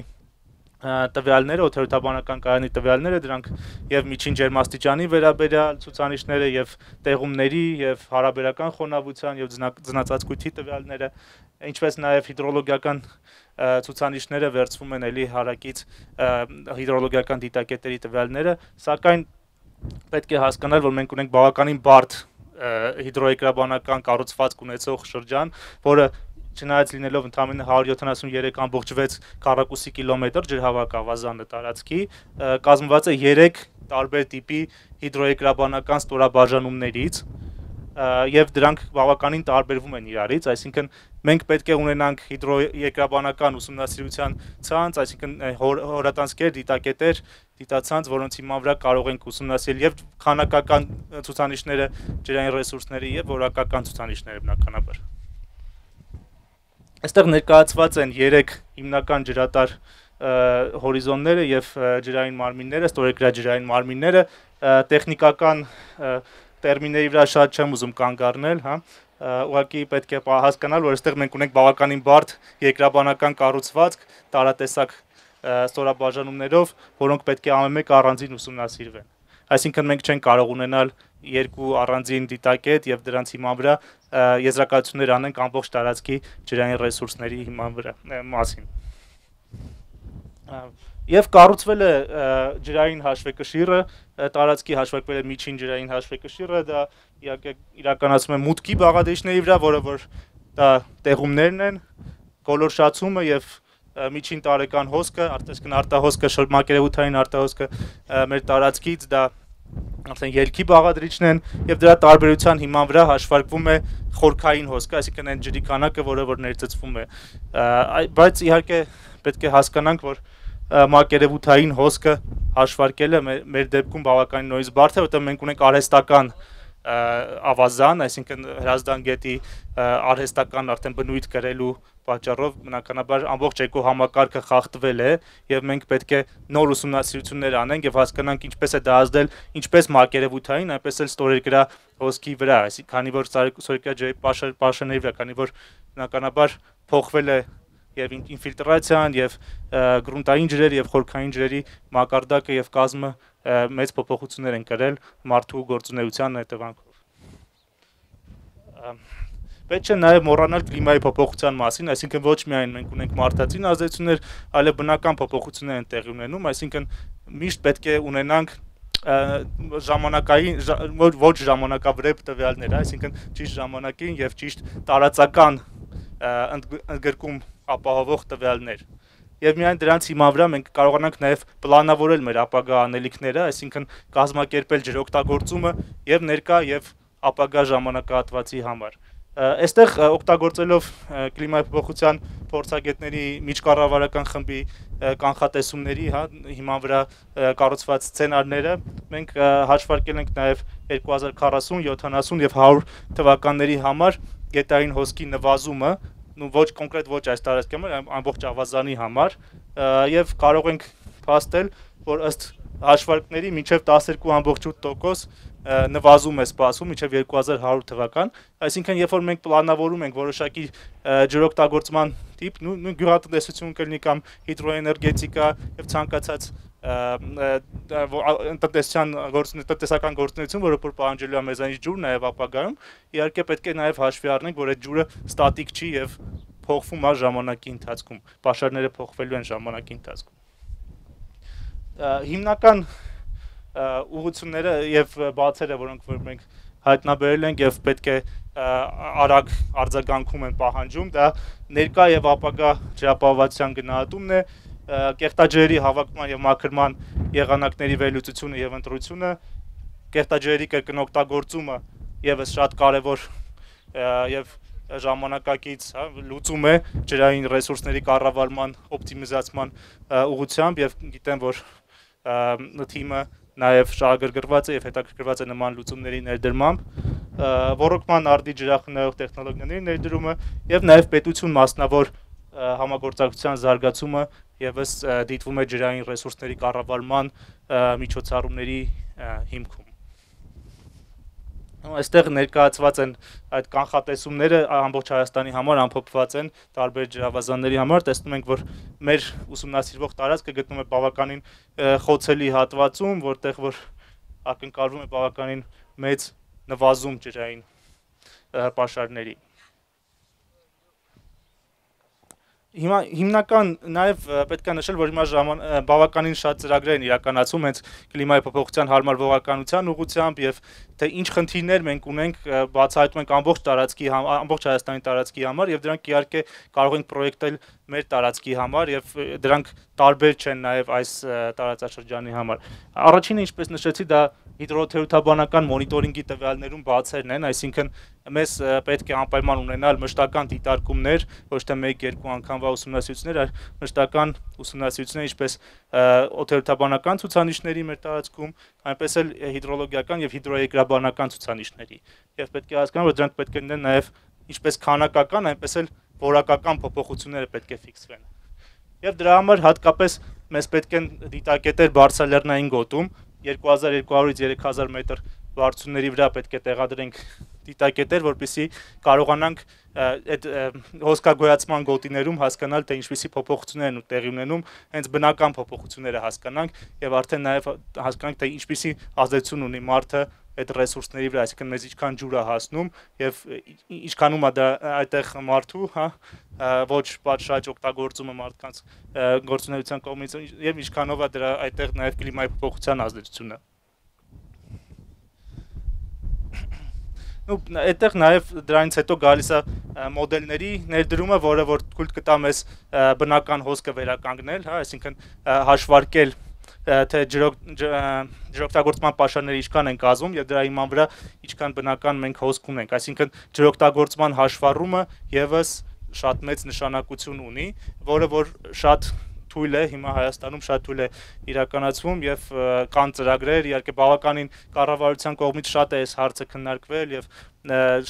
տվյալները, օդերոթաբանական կայանի տվյալները, դրանք եւ միջին ջերմաստիճանի վերաբերյալ ցուցանիշները եւ տեղումների եւ հարաբերական խոնավության եւ ձնածածկույթի տվյալները, ինչպես նաեւ հիդրոլոգիական ցուցանիշները վերցվում են էլի հարակից հիդրոլոգիական դիտակետերի տվյալները, սակայն պետք է հասկանալ, որ մենք ունենք բավականին բարդ հիդրոեկրաբանական կառուցվածք ունեցող շրջան, որը չնայած լինելով ընդամենը հարյուր յոթանասունյերեք ամբողջ վեց քառակուսի կիլոմետր ջրհավաքավազանը տարածքի, կազմված է երեք տարբեր տիպի հիդրոեկրաբանական ստորաբաժանումներից եւ դրանք բավականին տարբերվում են իրարից, այսինքն մենք պետք է ունենանք հիդրոեկրաբանական ուսումնասիրության ցանց, այսինքն հորատանցքեր, դիտակետեր, դիտացանց, որոնց հիման վրա կարող ենք ուսումնասիրել եւ քանակական ցուցանիշները, ջրային ռեսուրսների եւ որակական ցուցանիշները բնականաբար։ Այստեղ ներկայացված են երեք հիմնական ջրատար հորիզոնները եւ ջրային մարմինները, ստորեգրաջրային մարմինները, տեխնիկական տերմինների վրա շատ չեմ ուզում կանգ առնել, հա, ուղղակի պետք է հասկանալ, որ այստեղ մենք ունենք բավականին բարդ երկրաբանական կառուցվածք, տարատեսակ ստորաբաժանումներով, որոնք պետք է ամեն մեկ առանձին ուսումնասիրվեն։ Այսինքն մենք չենք կարող ունենալ երկու առանձին դիտակետ եւ դրանց հիման վրա եզրակացություններ անենք ամբողջ տարածքի ջրային ռեսուրսների հիման վրա մասին։ Եվ կառուցվել է ջրային հաշվեկշիռը, տարածքի հաշվեկվել է միջին ջրային հաշվեկշիռը, դա իրականացում է մուտքի բաղադրիչների վրա, որը որ դա տեղումներն են, գոլորշացումը եւ միջին տարեկան հոսքը, արդեն արտահոսքը, մակերևութային արտահոսքը մեր տարածքից դա արդեն ելքի բաղադրիչն են եւ դրա տարբերության հիման վրա հաշվարկվում է խորքային հոսքը, այսինքն այն ջրի քանակը, որը որ ներծծվում է, բայց իհարկե պետք է հասկանանք, որ մակերևութային հոսքը հաշվարկելը մեր դեպքում բավականին նույնիսկ բարդ է, որտեղ մենք ունենք արհեստական ավազան, այսինքն Հրազդան գետի արհեստական արդեն բնույթ կրելու պատճառով բնականաբար ամբողջ էկոհամակարգը խախտվել է եւ մենք պետք է նոր ուսումնասիրություններ անենք եւ հասկանանք ինչպես է դա ազդել ինչպես մակերևութային, այնպես էլ ստորերկրա հոսքի վրա, այսինքն քանի որ ստորերկրա ջրի պաշարների վրա, քանի որ բնականաբար փոխվել է եւ ինֆիլտրացիան եւ գրունտային ջրեր եւ խորքային ջրերի մակարդակը եւ կազմը մեծ փոփոխություններ են կրել մարդու գործունեության հետևանքով։ Պետք է նաեւ մոռանալ կլիմայի փոփոխության մասին, այսինքն ոչ միայն մենք ունենք մարդածին ազդեցություններ, այլև բնական փոփոխություններ են տեղի ունենում, այսինքն միշտ պետք է ունենանք ժամանակային ոչ ժամանակավրեպ տվյալներ, այսինքն ճիշտ ժամանակին եւ ճիշտ տարածական ընդգրկում ապահովող տվյալներ։ Եվ միայն դրանց հիման վրա մենք կարողանանք նաև պլանավորել մեր ապագա անելիքները, այսինքն կազմակերպել ջրօգտագործումը եւ ներկա եւ ապագա ժամանակահատվածի համար։ Այստեղ օգտագործելով կլիմայի փոփոխության փորձագետների միջկառավարական խմբի կանխատեսումների, հա, հիման վրա կառուցված սցենարները, մենք հաշվարկել ենք նաև երկու հազար քառասուն, յոթանասուն եւ հարյուր թվականների համար գետային հոսքի նվազումը, ու ոչ կոնկրետ ոչ այս տարածքի համար, ամբողջ ավազանի համար, եւ կարող ենք փաստել, որ ըստ հաշվարկների մինչև տասներկու ամբողջ ութ տոկոս նվազում է սպասվում մինչև երկու հազար հարյուր թվական, այսինքն երբ որ մենք պլանավորում ենք որոշակի ջրօգտագործման տիպ, նույն գյուղատնտեսություն կլինի կամ հիդրոէներգետիկա եւ ցանկացած տնտեսական տնտեսական գործունեություն, որը որ պահանջելու է մեզանից ջուր նաև ապագայում, իհարկե պետք է նաև հաշվի առնենք, որ այդ ջուրը ստատիկ չի եւ փոխվում է ժամանակի ընթացքում, պաշարները փոխվելու են ժամանակի ընթացքում։ Հիմնական ուղղությունները եւ բացերը, որոնք որ մենք հայտնաբերել ենք եւ պետք է արագ արձագանքում են պահանջում, դա ներկա եւ ապագա ջրապահովության գնահատումն է, կեղտաջրերի հավաքման եւ մաքրման եղանակների վերլուծությունը եւ ընտրությունը, կեղտաջրերի կրկին օգտագործումը եւս շատ կարեւոր եւ ժամանակակից, հա, լուծում է ջրային ռեսուրսների կառավարման օպտիմիզացման ուղղությամբ եւ գիտեմ, որ թիմը նաև շահագրգռված է եւ հետաքրքրված է նման լուծումների ներդրմամբ, ռոռոկման արդի ջրախնայող տեխնոլոգիաների ներդրումը եւ նաև պետություն մասնավոր համագործակցության զարգացումը եւս դիտվում է ջրային ռեսուրսների կառավարման միջոցառումների հիմքում։ Այստեղ ներկայացված են այդ կանխատեսումները ամբողջ Հայաստանի համար ամփոփված են տարբեր ջրավազանների համար, տեսնում ենք, որ մեր ուսումնասիրվող տարածքը գտնվում է բավականին խոցելի հատվածում, որտեղ որ ակնկալվում է բավականին մեծ նվազում ջրային պաշարների։ Հիմա հիմնական նաև պետք է նշել, որ հիմա բավականին շատ ծրագրեր են իրականացում հենց կլիմայի փոփոխության հարմարվողականության ուղղությամբ եւ թե ինչ խնդիրներ մենք ունենք, բացահայտում ենք ամբողջ տարածքի ամբողջ Հայաստանի տարածքի համար եւ դրանք իհարկե կարող ենք պրոյեկտել մեր տարածքի համար եւ դրանք տարբեր չեն նաեւ այս տարածաշրջանի համար։ Առաջինը, ինչպես նշեցի, դա հիդրոթերապևտաբանական մոնիտորինգի տվյալներում բացերն են, այսինքն մեզ պետք է անպայման ունենալ մշտական դիտարկումներ, ոչ թե մեկ-երկու անգամվա ուսումնասիրություններ, այլ մշտական ուսումնասիրություններ, ինչպես օդերթաբանական ցուցանիշների մեր տարածքում, այնպես էլ հիդրոլոգիական եւ հիդրոեկրաբանական ցուցանիշների։ Եվ պետք է հասկանալ, որ դրանք պետք է լինեն նաեւ ինչպես քանակական, այնպես էլ որակական փոփոխությունները պետք է ֆիքսվեն։ Եվ դրա համար հատկապես մեզ պետք են դիտակետեր բարձրալեռնային գոտում, երկու հազար երկու հարյուրից երեք հազար մետր բարձրությունների վրա պետք է տեղադրենք դիտակետեր, որպեսզի կարողանանք այդ հոսքագոյացման գոտիներում հասկանալ, թե ինչպիսի փոփոխություններ են տեղի ունենում, հենց բնական փոփոխությունները հասկանանք եւ արդեն նաեւ հասկանանք, թե ինչպիսի ազդեցություն ունի մարդը այդ ռեսուրսների վրա, այսինքն մեզ ինչքան ջուր է հասնում եւ ինչքանում է դա այդտեղ մարդու, հա, ոչ պատշաճ օգտագործումը մարդկանց գործունեության կողմից եւ ինչքանով է դրա այդտեղ նաեւ կլիմայի փոփոխության ազդեցությունը։ Ու այդտեղ նաեւ դրանից հետո գալիս է մոդելների ներդրումը, որը որ թույլ կտա մեզ բնական հոսքը վերականգնել, հա, այսինքն հաշվարկել թե ջրօգտագործման պաշարները ինչքան են կազմում եւ դրա հիման վրա ինչքան բնական մենք հոսք ունենք, այսինքն ջրօգտագործման հաշվառումը եւս շատ մեծ նշանակություն ունի, որը որ շատ թույլ է հիմա Հայաստանում շատ թույլ է իրականացվում եւ կան ծրագրեր, իհարկե բավականին կառավարության կողմից շատ է այս հարցը քննարկվել եւ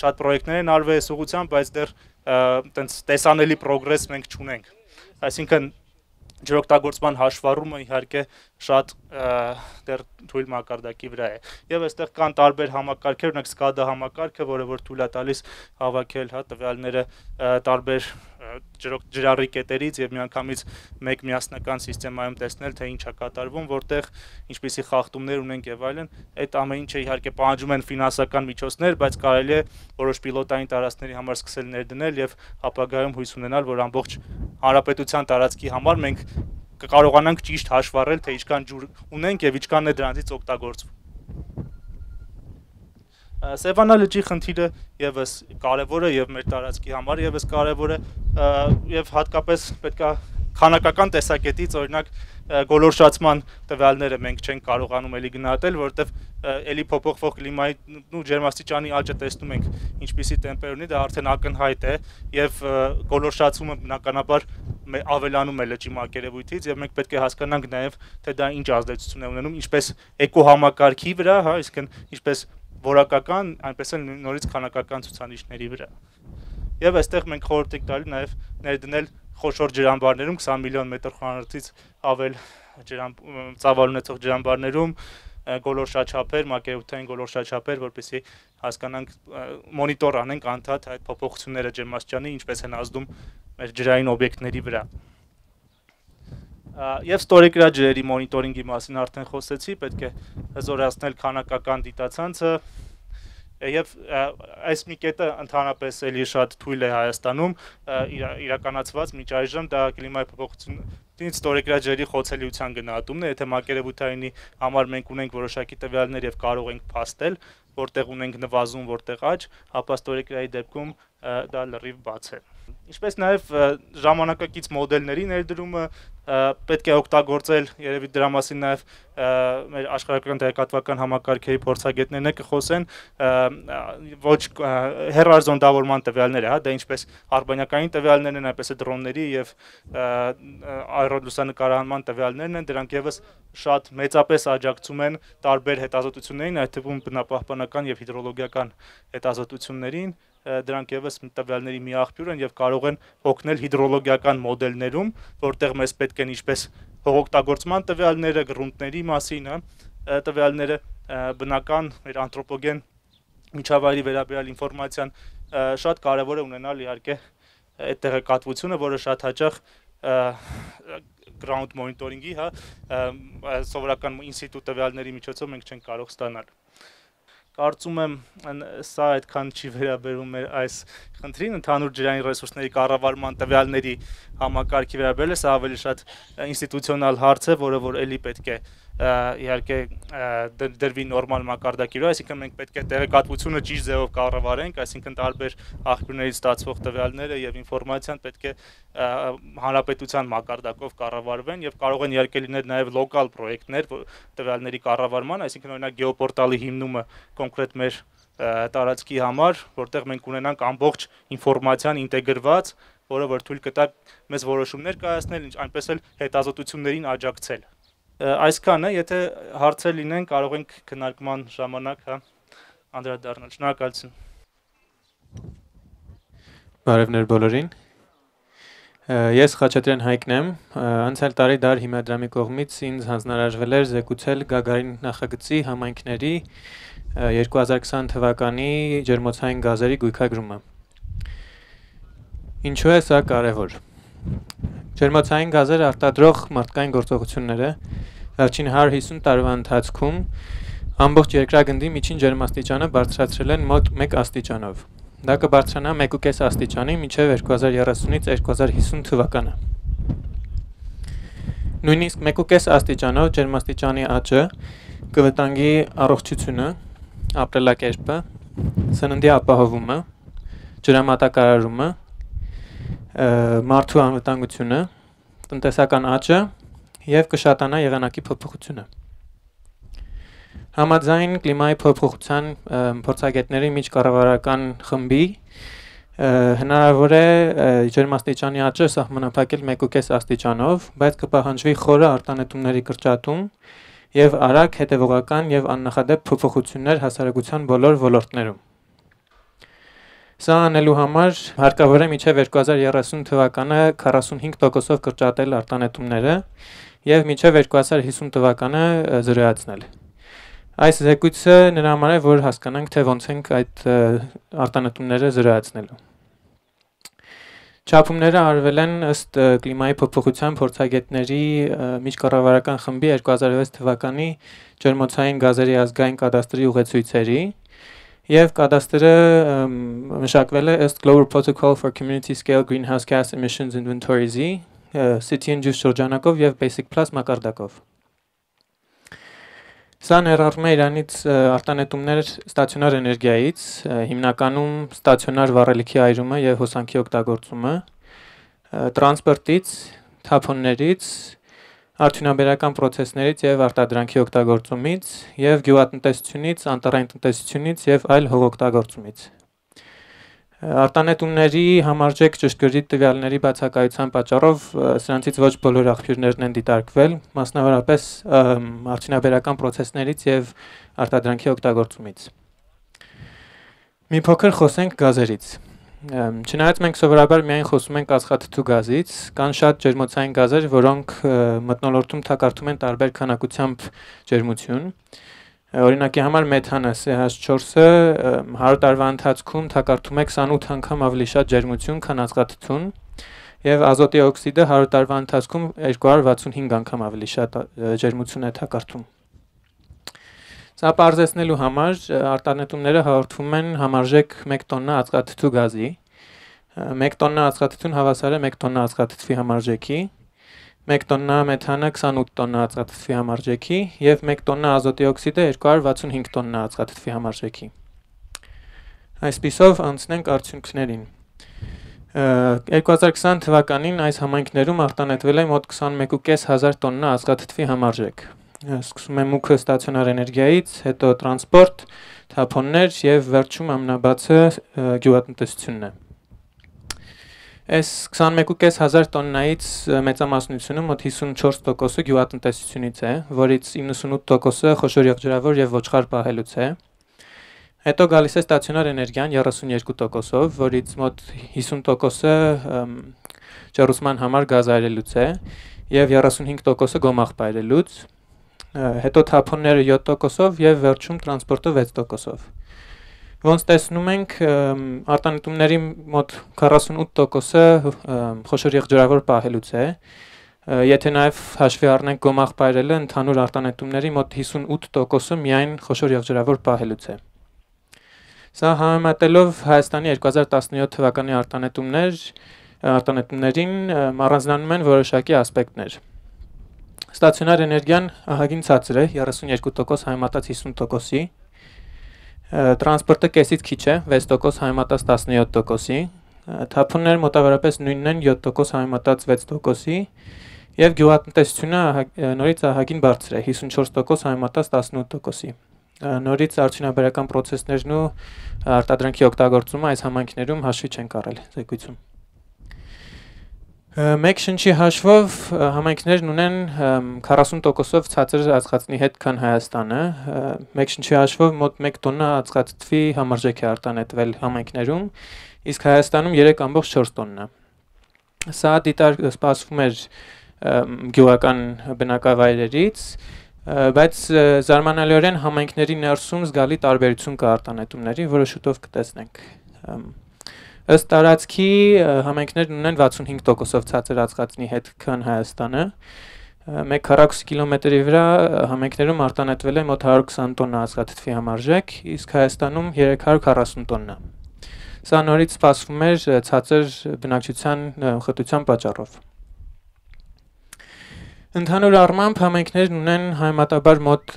շատ պրոյեկտներ են արվել այս ուղղությամբ, բայց դեռ այտենց տեսանելի պրոգրես մենք չունենք, այսինքն ջրօգտագործման հաշվառումը իհարկե շատ դեռ թույլ մակարդակի վրա է եւ այստեղ կան տարբեր համակարգեր, օրինակ սկադա համակարգը, որը որ թույլ է տալիս հավաքել, հա, տվյալները տարբեր ջրառի կետերից եւ միանգամից մեկ միասնական համակարգում տեսնել, թե ինչ է կատարվում, որտեղ ինչպիսի խախտումներ ունենք եւ այլն, այդ ամեն ինչը իհարկե պահանջում են ֆինանսական միջոցներ, բայց կարելի է որոշ պիլոտային տարածքների համար սկսել ներդնել եւ ապագայում հույս ունենալ, որ ամբողջ հանրապետության տարածքի համար մենք կկարողանանք ճիշտ հաշվառել, թե ինչքան ջուր ունենք եւ ինչքանն է դրանից օգտագործվում։ Սևանա լճի խնդիրը եւս կարեւոր է եւ մեր տարածքի համար եւս կարեւոր է եւ հատկապես պետք է քանակական տեսակետից օրինակ գոլորշացման տվյալները մենք չենք կարողանում էլի գնահատել, որովհետև էլի փոփոխվող կլիմայի ու ջերմաստիճանի աճը տեսնում ենք ինչպիսի տեմպեր ունի, դա արդեն ակնհայտ է եւ գոլորշացումը բնականաբար ավելանում է լճի մակերևույթից եւ մենք պետք է հասկանանք նաեւ թե դա ինչ ազդեցություն է ունենում ինչպես էկոհամակարգի վրա, հա, այսինքն ինչպես որակական, այնպես էլ նորից քանակական ցուցանիշների վրա։ Եվ այստեղ մենք խորհուրդ ենք տալի նաեւ ներդնել խոշոր ջրամբարներում քսան միլիոն մետր խորանարդից ավել ջրամ ծավալ ունեցող ջրամբարներում գոլորշաչափեր, մակերևութային գոլորշաչափեր, որպեսզի հասկանանք մոնիտոր անենք անդադ այդ փոփոխությունները ջերմաստիճանի ինչպես են ազդում մեր ջրային օբյեկտների վրա։ Եվ ստորեգրաջրերի մոնիտորինգի մասին արդեն խոսեցի, պետք է հզորացնել քանակական դիտացանցը եւ այս մի կետը ընդհանրապես էլի շատ թույլ է Հայաստանում իրականացված մինչ այժմ դա կլիմայի փոփոխությունից ստորեգրաջրերի խոցելիության գնահատումն է, եթե մակերևութայինի համար մենք ունենք որոշակի տվյալներ եւ կարող ենք փաստել, որտեղ ունենք նվազում, որտեղ աճ, ապա ստորեգրայի դեպքում դա լրիվ բաց է։ Ինչպես նաև ժամանակակից մոդելների ներդրումը պետք է օգտագործել, երևի դրա մասին նաև մեր աշխարհական տեղեկատվական համակարգերի փորձագետներն կխոսեն, ոչ հեռարձոնդավորման տվյալները, հա, դա ինչպես արբանյակային տվյալներն են, այնպես է դրոնների եւ աերոլուսանկարահանման տվյալներն են, դրանք եւս շատ մեծապես աջակցում են տարբեր հետազոտություններին, այդ թվում բնապահպանական եւ հիդրոլոգիական հետազոտություններին, դրանք եւս տվյալների մի աղբյուր են եւ կարող են օգնել հիդրոլոգիական մոդելներում, որտեղ մեզ պետք են ինչպես հողօգտագործման տվյալները, գրունտների մասին, տվյալները, բնական մեր անթրոպոգեն միջավայրի վերաբերյալ ինֆորմացիան շատ կարեւոր է ունենալ իհարկե այդ տեղեկատվությունը, որը շատ հաճախ ground monitoring-ի, հա, սովորական ինստիտուտ տվյալների միջոցով մենք չենք կարող ստանալ։ Կարծում եմ սա այդքան չի վերաբերում այս խնդրին, ընդհանուր ջրային ռեսուրսների կառավարման տվյալների համակարգի վերաբերել է, սա ավելի շատ ինստիտուցիոնալ հարց է, որը որ էլի պետք է իհարկե դրվի նորմալ մակարդակի վրա, այսինքն մենք պետք է տեղեկատվությունը ճիշտ ձևով կառավարենք, այսինքն տարբեր աղբյուրներից ստացվող տվյալները եւ ինֆորմացիան պետք է հանրապետության մակարդակով կառավարվեն եւ կարող են իհարկե լինել նաեւ լոկալ պրոյեկտներ տվյալների կառավարման, այսինքն օրինակ գեոպորտալի հիմնումը կոնկրետ մեր տարածքի համար, որտեղ մենք ունենանք ամբողջ ինֆորմացիան ինտեգրված, որը որ թույլ կտա մեզ որոշումներ կայացնել, այնպես էլ հետազոտություններին աջակցել։ Այսքանը, եթե հարցեր լինեն, կարող ենք քննարկման ժամանակ, հա, անդրադառնալ։ Շնորհակալություն։ Բարևներ բոլորին։ Ես Խաչատրյան Հայկն եմ, անցյալ տարի դար հիմնադրամի կողմից ինձ հանձնարարվել էր զեկուցել Գագարին նախագծի համայնքների երկու հազար քսան թվականի ջերմոցային գազերի գույքագրումը։ Ինչու է սա կարևոր։ Ջերմոցային գազերը արտադրող մարդկային գործողությունները վերջին հարյուր հիսուն տարվա ընթացքում ամբողջ երկրագնդի միջին ջերմաստիճանը բարձրացրել են մոտ մեկ աստիճանով։ Դա կբարձրանա մեկ ու կես աստիճանի մինչև երկու հազար երեսունից երկու հազար հիսուն թվականը։ Նույնիսկ մեկ ու կես աստիճանով ջերմաստիճանի աճը կվտանգի առողջությունը, ապրելակերպը, սննդի ապահովումը, ջրամատակարարումը, մարդու անվտանգությունը, տնտեսական աճը եւ կշատանա եղանակի փոփոխությունը։ Համաձայն կլիմայի փոփոխության փորձագետների միջկառավարական խմբի հնարավոր է ջերմաստիճանի աճը սահմանափակել մեկ ու կես աստիճանով, բայց կպահանջվի խորը արտանետումների կրճատում եւ արագ հետեւողական եւ աննախադեպ փոփոխություններ հասարակության բոլոր ոլորտներում։ Սա անելու համար հարկավոր է մինչև երկու հազար երեսուն թվականը քառասունհինգ տոկոսով կրճատել արտանետումները եւ մինչև երկու հազար հիսուն թվականը զրոյացնել։ Այս զեկույցը նրա համար է, որ հասկանանք, թե ոնց ենք այդ արտանետումները զրոյացնելու։ Չափումները արվել են ըստ կլիմայի փոփոխության փորձագետների միջկառավարական խմբի երկու հազար վեց թվականի ջերմոցային գազերի ազգային կադաստրի ուղեցույցերի եւ կադաստրը մշակվել է ըստ Global Protocol for Community Scale Greenhouse Gas Emissions Inventories-ի City and Juice շրջանակով եւ Basic Plus մակարդակով։ Սա ներառում է իրանից արտանետումներ ստացիոնար էներգիայից, հիմնականում ստացիոնար վառելիքի այրումը եւ հոսանքի օգտագործումը, տրանսպորտից, թափոններից, արդյունաբերական պրոցեսներից եւ արտադրանքի օգտագործումից եւ գյուղատնտեսությունից, անտառային տնտեսությունից եւ այլ հողօգտագործումից։ Արտանետումների համարժեք ճշգրիտ տվյալների բացակայության պատճառով սրանցից ոչ բոլոր աղբյուրներն են դիտարկվել, մասնավորապես արդյունաբերական պրոցեսներից եւ արտադրանքի օգտագործումից։ Մի փոքր խոսենք գազերից։ Չնայած մենք սովորաբար միայն խոսում ենք ածխաթթու գազից, կան շատ ջերմոցային գազեր, որոնք մթնոլորտում թակարդում են տարբեր քանակությամբ ջերմություն։ Օրինակի համար մեթանը C H four-ը հարյուր տարվա ընթացքում թակարդում է քսանութ անգամ ավելի շատ ջերմություն, քան ածխաթթուն, եւ ազոտի օքսիդը հարյուր տարվա ընթացքում երկու հարյուր վաթսունհինգ անգամ ավելի շատ ջերմություն է թակարդում։ Սա պարզեցնելու համար արտանետումները հաղորդվում են համարժեք մեկ տոննա ածխաթթու գազի, մեկ տոննա ածխաթթուն հավասար է մեկ տոննա ածխաթթվի համարժեքի, մեկ տոննա մեթանը քսանութ տոննա ածխաթթվի համարժեքի եւ մեկ տոննա ազոտի օքսիդը երկու հարյուր վաթսունհինգ տոննա ածխաթթվի համարժեքի։ Այսպիսով անցնենք արդյունքներին։ երկու հազար քսան թվականին այս համայնքներում արտանետվել է մոտ քսանմեկ հազար պինցետ հազար տոննա ածխաթթվի համարժեք։ Սկսում է մուգը ստացիոնար էներգիայից, հետո տրանսպորտ, թափոններ եւ վերջում ամենաբացը գյուղատնտեսությունն է։ Այս քսանմեկ հազար պինցետ հազար տոննայից մեծամասնությունը մոտ հիսունչորս տոկոսը գյուղատնտեսությունից է, որից իննսունութ տոկոսը խոշոր եղջերավոր եւ ոչխար պահելուց է։ Հետո գալիս է ստացիոնար էներգիան երեսունյոթ տոկոսով, որից մոտ հիսուն տոկոսը ջեռուցման համար գազ այրելուց է եւ երեսունհինգ տոկոսը գոմաղ պայրելուց, հետո թափոնները յոթ տոկոսով եւ վերջում տրանսպորտը վեց տոկոսով։ Ոնց տեսնում ենք, արտանետումների մոտ քառասունութ տոկոսը խոշոր եղջերավոր պահելուց է։ Եթե նաեւ հաշվի առնենք գոմաղ պայրելը, ընդհանուր արտանետումների մոտ հիսունութ տոկոսը միայն խոշոր եղջերավոր պահելուց է։ Սա համեմատելով Հայաստանի երկու հազար տասնյոթ թվականի արտանետումներ, արտանետումներին առանձնանում են որոշակի ասպեկտներ։ Ստացիոնար էներգիան ահագին ցածր է, երեսունյոթ տոկոս համեմատած հիսուն տոկոսի, տրանսպորտը կեսից քիչ է, վեց տոկոս համեմատած տասնյոթ տոկոսի, թափոնները մոտավորապես նույնն են, յոթ տոկոս համեմատած վեց տոկոսի, եւ գյուղատնտեսությունը նորից ահագին բարձր է, հիսունչորս տոկոս համեմատած տասնութ տոկոսի։ Նորից արդյունաբերական պրոցեսներն ու արտադրանքի օգտագործումը այս համայնքներում հաշվի չեն առել զեկույցում։ Մեկ շնչի հաշվով համայնքներն ունեն քառասուն տոկոսով ցածր ածխածնի հետ, քան Հայաստանը։ Մեկ շնչի հաշվով մոտ մեկ տոննա ածխածնի համարժեք է արտանետվել համայնքներում, իսկ Հայաստանում երեք ամբողջ չորս տոննա։ Սա դիտար սպասվում էր գյուղական բնակավայրերից, բայց զարմանալիորեն համայնքների ներսում զգալի տարբերություն կա արտանետումների, որը շուտով կտեսնենք։ Ըստ տարածքի համայնքներն ունեն վաթսունհինգ տոկոսով ցածր ածխածնի հետ, քան Հայաստանը։ Մեկ քառակուսի կիլոմետրի վրա համայնքներում արտանետվել է մոտ հարյուր քսան տոննա ածխաթթվի համարժեք, իսկ Հայաստանում երեք հարյուր քառասուն տոննա։ Սա նորից սպասվում էր ցածր բնակչության խտության պատճառով։ Ընդհանուր առմամբ համայնքներն ունեն համեմատաբար մոտ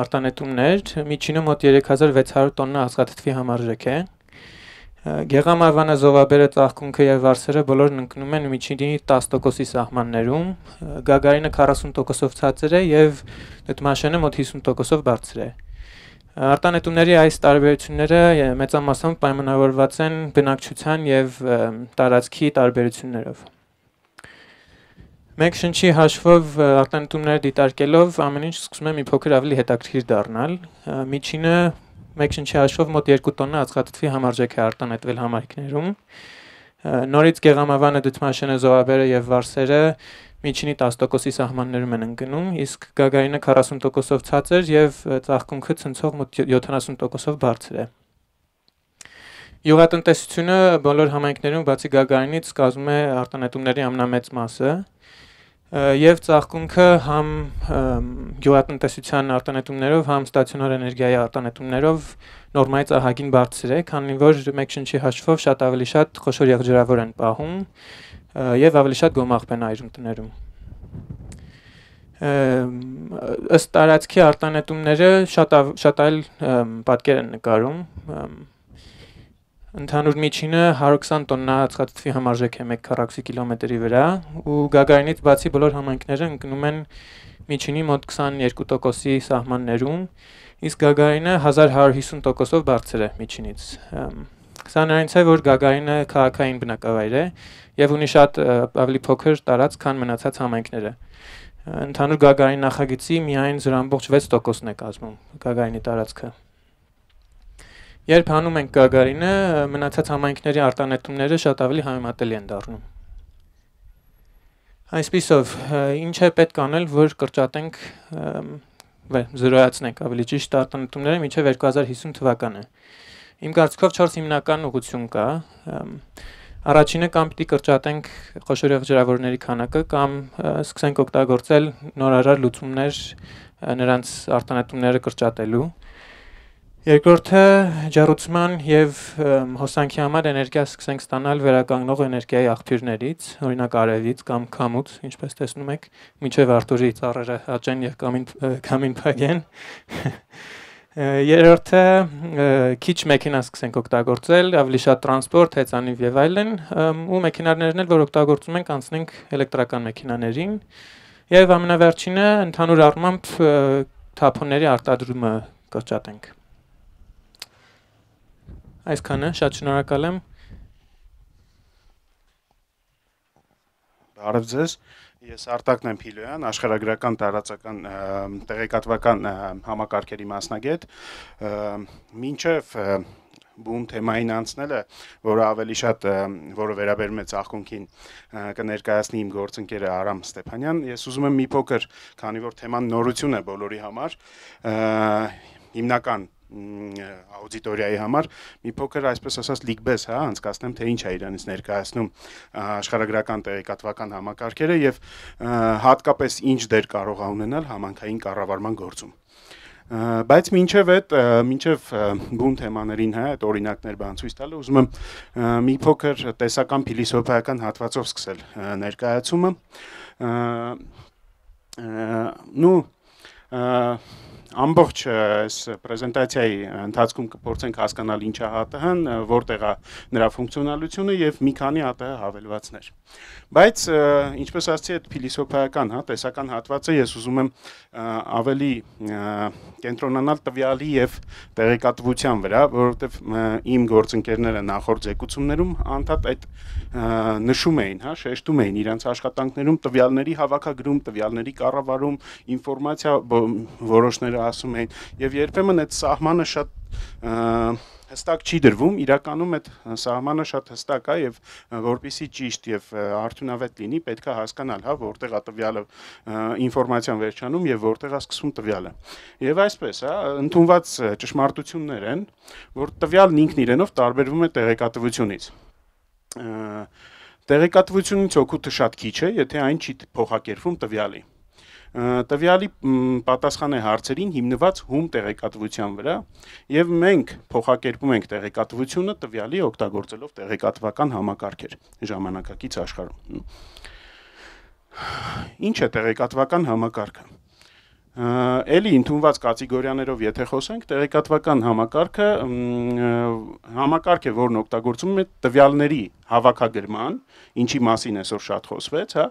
արտանետումներ, միջինը մոտ երեք հազար վեց հարյուր տոննա ածխաթթվի համարժեք է։ Գեղամավանը, զովաբերը, ծաղկունքը եւ վարսերը բոլորն ընկնում են միջինի տասը տոկոսի սահմաններում, գագարինը քառասուն տոկոսով ցածր է եւ դդմաշենը մոտ հիսուն տոկոսով բարձր է։ Արտանետումների այս տարբերությունները մեծամասամբ պայմանավորված են բնակչության եւ տարածքի տարբերություններով։ Մեկ շնչի հաշվով արտանետումները դիտարկելով ամեն ինչ սկսում է մի փոքր ավելի հետաքրքիր դառնալ։ Միջինը մեկ շնչի հաշվով մոտ երկու տոննա ածխաթթվի համարժեք է արտանետվել համայնքներում։ Նորից գեղամավանը, դդմաշենը, զովաբերը եւ վարսերը միջինի տասը տոկոսի սահմաններում են ընկնում, իսկ գագարինը քառասուն տոկոսով ցածր եւ ծաղկունքը ցնցող մոտ յոթանասուն տոկոսով բարձր է։ Գյուղատնտեսությունը բոլոր համայնքներում բացի գագարինից կազմում է արտանետումների ամենամեծ մասը, եւ ծաղկունքը համ գյուղատնտեսության արտանետումներով, համ ստացիոնար էներգիայի արտանետումներով նորմայից ահագին բարձր է, քանի որ մեկ շնչի հաշվով շատ ավելի շատ խոշոր եղջերավոր են պահում եւ ավելի շատ գոմաղբ են այրում տներում։ Ըստ տարածքի արտանետումները շատ շատ այլ պատկեր են նկարում։ Ընդհանուր միջինը հարյուր քսան տոննա ածխաթթվի համարժեք է մեկ քառակուսի կիլոմետրի վրա ու Գագարինից բացի բոլոր համայնքները ընկնում են միջինի մոտ քսաներկու տոկոսի սահմաններում, իսկ Գագարինը հազար հարյուր հիսուն տոկոսով բարձր է միջինից։ Սա նրանից է, որ Գագարինը քաղաքային բնակավայր է եւ ունի շատ ավելի փոքր տարածք, քան մնացած համայնքները։ Ընդհանուր Գագարին նախագծի միայն զրո ամբողջ վեց տոկոսն է կազմում Գագարինի տարածքը։ Երբ հանում ենք Գագարինը, մնացած համայնքների արտանետումները շատ ավելի համեմատելի են դառնում։ Այսպիսով, ինչ է պետք անել, որ կրճատենք, զրոյացնենք ավելի ճիշտ արտանետումները մինչև երկու հազար հիսուն թվականը։ Իմ կարծիքով չորս հիմնական ուղղություն կա։ Առաջինը կամ պիտի կրճատենք խոշոր եղջերավորների քանակը կամ սկսենք օգտագործել նորարար լուծումներ նրանց արտանետումները կրճատելու։ Երկրորդը ջեռուցման եւ հոսանքի համար էներգիա սկսենք ստանալ վերականգնող էներգիայի աղբյուրներից, օրինակ արևից կամ քամուց, ինչպես տեսնում եք, մինչև Արտուրի ծառերը աճեն եւ կամին կամին փակեն։ Երրորդը քիչ մեքենա սկսենք օգտագործել, ավելի շատ տրանսպորտ, հեծանիվ եւ այլն, ու մեքենաներն էլ, որ օգտագործում ենք, անցնենք էլեկտրական մեքենաներին։ Եվ ամենավերջինը ընդհանուր առմամբ թափոնների արտադրումը կրճատենք։ Այսքանը, շատ շնորհակալ եմ։ Բարև ձեզ, ես Արտակն եմ Փիլոյան, աշխարհագրական տարածական տեղեկատվական համակարգերի մասնագետ, մինչև բուն թեմային անցնելը, որը ավելի շատ, որը վերաբերում է ծաղկունքին, կներկայացնի իմ գործընկերը Արամ Ստեփանյան, ես ուզում եմ մի փոքր, քանի որ թեման նորություն է բոլորի համար, հիմնական աուդիտորիայի համար մի փոքր այսպես ասած լիգբես, հա, անցկացնեմ թե ինչ է իրանից ներկայացնում աշխարհագրական տեղեկատվական համակարգերը եւ հատկապես ինչ դեր կարող է ունենալ համանքային կառավարման գործում։ Բայց մինչև այդ, մինչև բուն թեմաներին հա, այդ օրինակներ բան ցույց տալը, ուզում եմ մի փոքր տեսական փիլիսոփայական հատվածով սկսել ներկայացումը։ Նու Ամբողջ այս պրեզենտացիայի ընթացքում կփորձենք հասկանալ ինչ է ՀԱՏՀ-ն, որտեղ է նրա ֆունկցիոնալությունը եւ մի քանի ՀԱՏՀ հավելվածներ։ Բայց ինչպես ասացի, այդ փիլիսոփայական, հա, տեսական հատվածը ես ուզում եմ ավելի կենտրոնանալ տվյալի եւ տեղեկատվության վրա, որովհետեւ իմ գործընկերները նախորդ զեկուցումներում անդադ այդ նշում էին, հա, շեշտում էին իրենց աշխատանքներում տվյալների հավաքագրում, տվյալների կառավարում, ինֆորմացիա որոշները ասում էին եւ երբեմն այդ սահմանը շատ հստակ չի դրվում, իրականում այդ սահմանը շատ հստակ է եւ որպեսզի ճիշտ եւ արդյունավետ լինի, պետք է հասկանալ, հա, որտեղ է տվյալը ինֆորմացիան վերջանում եւ որտեղ է սկսվում տվյալը։ Եվ այսպես, հա, ընդունված ճշմարտություններ են, որ տվյալն ինքն իրենով տարբերվում է տեղեկատվությունից։ Տեղեկատվությունից օգուտը շատ քիչ է, եթե այն չի փոխակերպվում տվյալի։ Տվյալի պատասխան է հարցերին հիմնված հում տեղեկատվության վրա եւ մենք փոխակերպում ենք տեղեկատվությունը տվյալի օգտագործելով տեղեկատվական համակարգեր ժամանակակից աշխարհում։ Ինչ է տեղեկատվական համակարգը։ Էլի ընդունված կատեգորիաներով եթե խոսենք, տեղեկատվական համակարգը համակարգ է, որն օգտագործում է տվյալների հավաքագրման, ինչի մասին այսօր շատ խոսվեց, հա,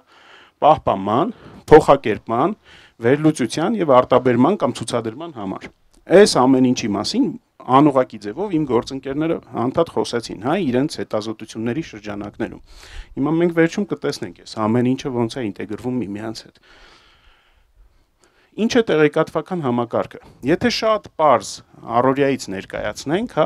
պահպանման, փոխակերպման, վերլուծության եւ արտաբերման կամ ցուցադրման համար։ Այս ամեն ինչի մասին անուղակի ձևով իմ գործընկերները անդադ խոսեցին, հա, իրենց հետազոտությունների շրջանակներում։ Հիմա մենք վերջում կտեսնենք այս ամեն ինչը ոնց է ինտեգրվում միմյանց հետ։ Ինչ է տեղեկատվական համակարգը։ Եթե շատ պարզ առօրյայից ներկայացնենք, հա,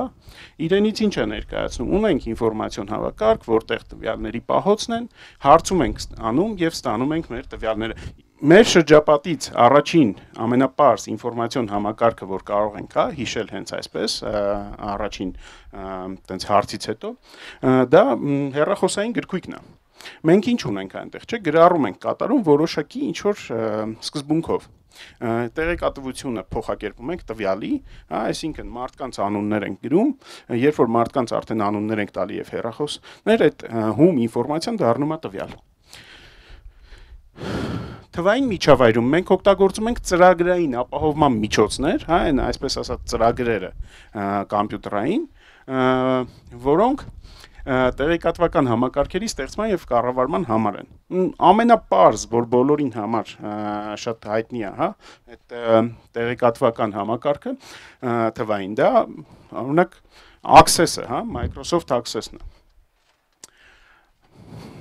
իրենից ինչ է ներկայացնում։ Ունենք ինֆորմացիոն հավաքարկ, որտեղ տվյալների պահոցն են, հարցում ենք անում եւ ստանում ենք մեր տվյալները։ Մեր շրջապատից առաջին ամենապարզ ինֆորմացիոն համակարգը, որ կարող ենք, հա, հիշել հենց այսպես, առաջին տենց հարցից հետո, դա հեռախոսային գրքույկն է։ Մենք ինչ ունենք այնտեղ, չէ՞, գրառում ենք կատարում որոշակի ինչ որ սկզբունքով։ Տեղեկատվությունը փոխակերպում ենք տվյալի, հա, այսինքն մարդկանց անուններ ենք գրում, երբ որ մարդկանց արդեն անուններ ենք տալի եւ հեռախոսներ, այդ հում ինֆորմացիան դառնում է տվյալ։ Թվային միջավայրում մենք օգտագործում ենք ծրագրային ապահովման միջոցներ, հա, այն այսպես ասած ծրագրերը կոմպյուտերային, որոնք տեղեկատվական համակարգերի ստեղծման եւ կառավարման համար են։ Ամենապարզ, որ բոլորին համար շատ հայտնի է, հա, այդ տեղեկատվական համակարգը թվային, դա օրինակ Access-ը, հա, Microsoft Access-ն է։